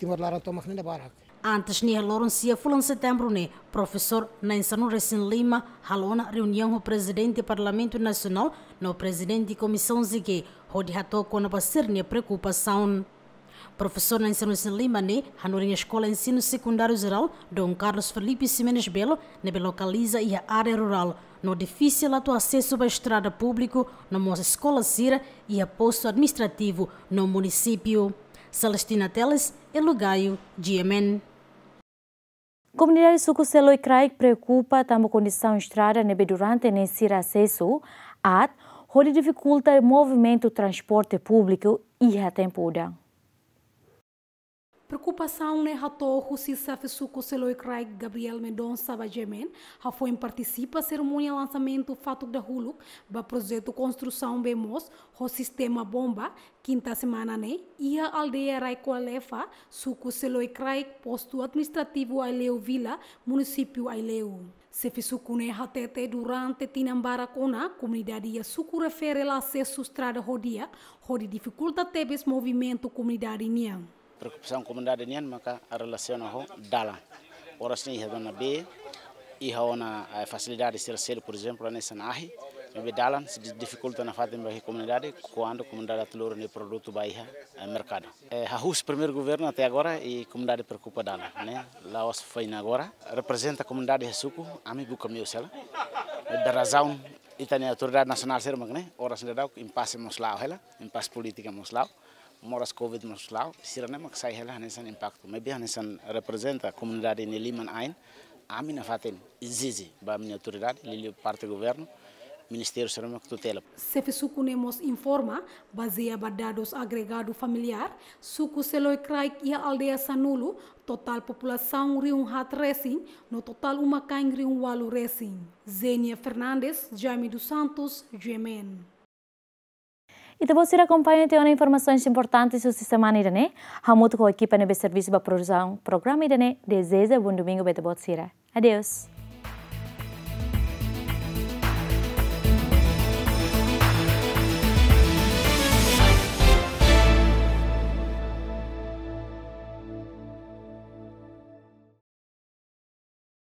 Timor laran tomak ne'e barak. Antes ne'e, loron sia fulan Setembru ne'e, Profesór Nainsanu Resin Lima halo ona reuniaun ho Prezidente Parlamentu Nasionál no Prezidente Komisaun G, hodi hato'o kona-ba sira-nia preokupasaun. Profesór Nainsanu Resin Lima ne'e hanorin Eskola Ensinu Sekundáriu Jerál Dom Carlos Felipe Ximenes Belo, ne'ebé lokaliza iha área rurál, no difisil atu asesu ba estrada públiku, no mós eskola sira iha postu administrativu no munisípiu. Celestina Teles, Elo Gaio, G M N. Komunidade suku Seloi Kraik preokupa tanba kondisaun estrada ne'ebé durante ne'e sira asesu aat, hodi difikulta movimentu transporte públiku iha tempu udan. Preokupasaun ne'e hato'o husi Xefe Suku Seloi Kraik Gabriel Mendonça ba G M N, hafoin partisipa serimónia lansamentu fatuk dahuluk ba projetu konstrusaun bee moos ho sistema bomba, kinta semana ne'e, iha aldeia Raikoalefa, suku Seloi Kraik, postu administrativu Aileu Vila, munisípiu Aileu. Xefe suku ne'e hatete durante tinan barak ona, komunidade iha suku refere la asesu estrada ho di'ak, hodi difikulta tebes movimentu komunidade nian. Preokupasaun komunidade nian maka relasiona ho dalan. Oras ne'e iha ona bee, iha ona, eh, fasilidade sira seluk, por ezemplu, hanesan ahi, maibé dalan sei di-, difikulta nafatin ba iha komunidade, kuandu komunidade atu lori nia produtu ba iha, eh, merkadu. Eh, hahú husi primeiru governu até agora, i komunidade preokupa dalan, ne'e. La'ós foin agora, reprezenta komunidade iha suku, ami buka meius hela. Maibé razaun, ita-nia autoridade nasionál sira mak ne'e, oras ne'e daudaun, impase mós la'o hela, impase polítika mós la'o, moras covid mós la'o, sira-ne'e mak sai hela hanesan impaktu. Maibé hanesan reprezenta komunidade nia liman-ain, ami nafatin ezije ba ami-nia autoridade, liuliu parte governu, ministériu sira mak tutela. Xefe suku ne'e mós informa, bazeia ba dadus agregadu familiár, suku Seloi Kraik iha aldeia sanulu, totál populasaun rihun haat resin, no totál uma-kain rihun ualu resin. Zenia Fernandes, Jaime dos Santos, G M N. Ita-boot sira akompaña tiha ona informasaun importante husi semana ida-ne'e, hamutuk ho ekipa ne'ebé servisu ba produsaun programa ida-ne'e, dezeja bom domingo ba ita-boot sira. Adeus.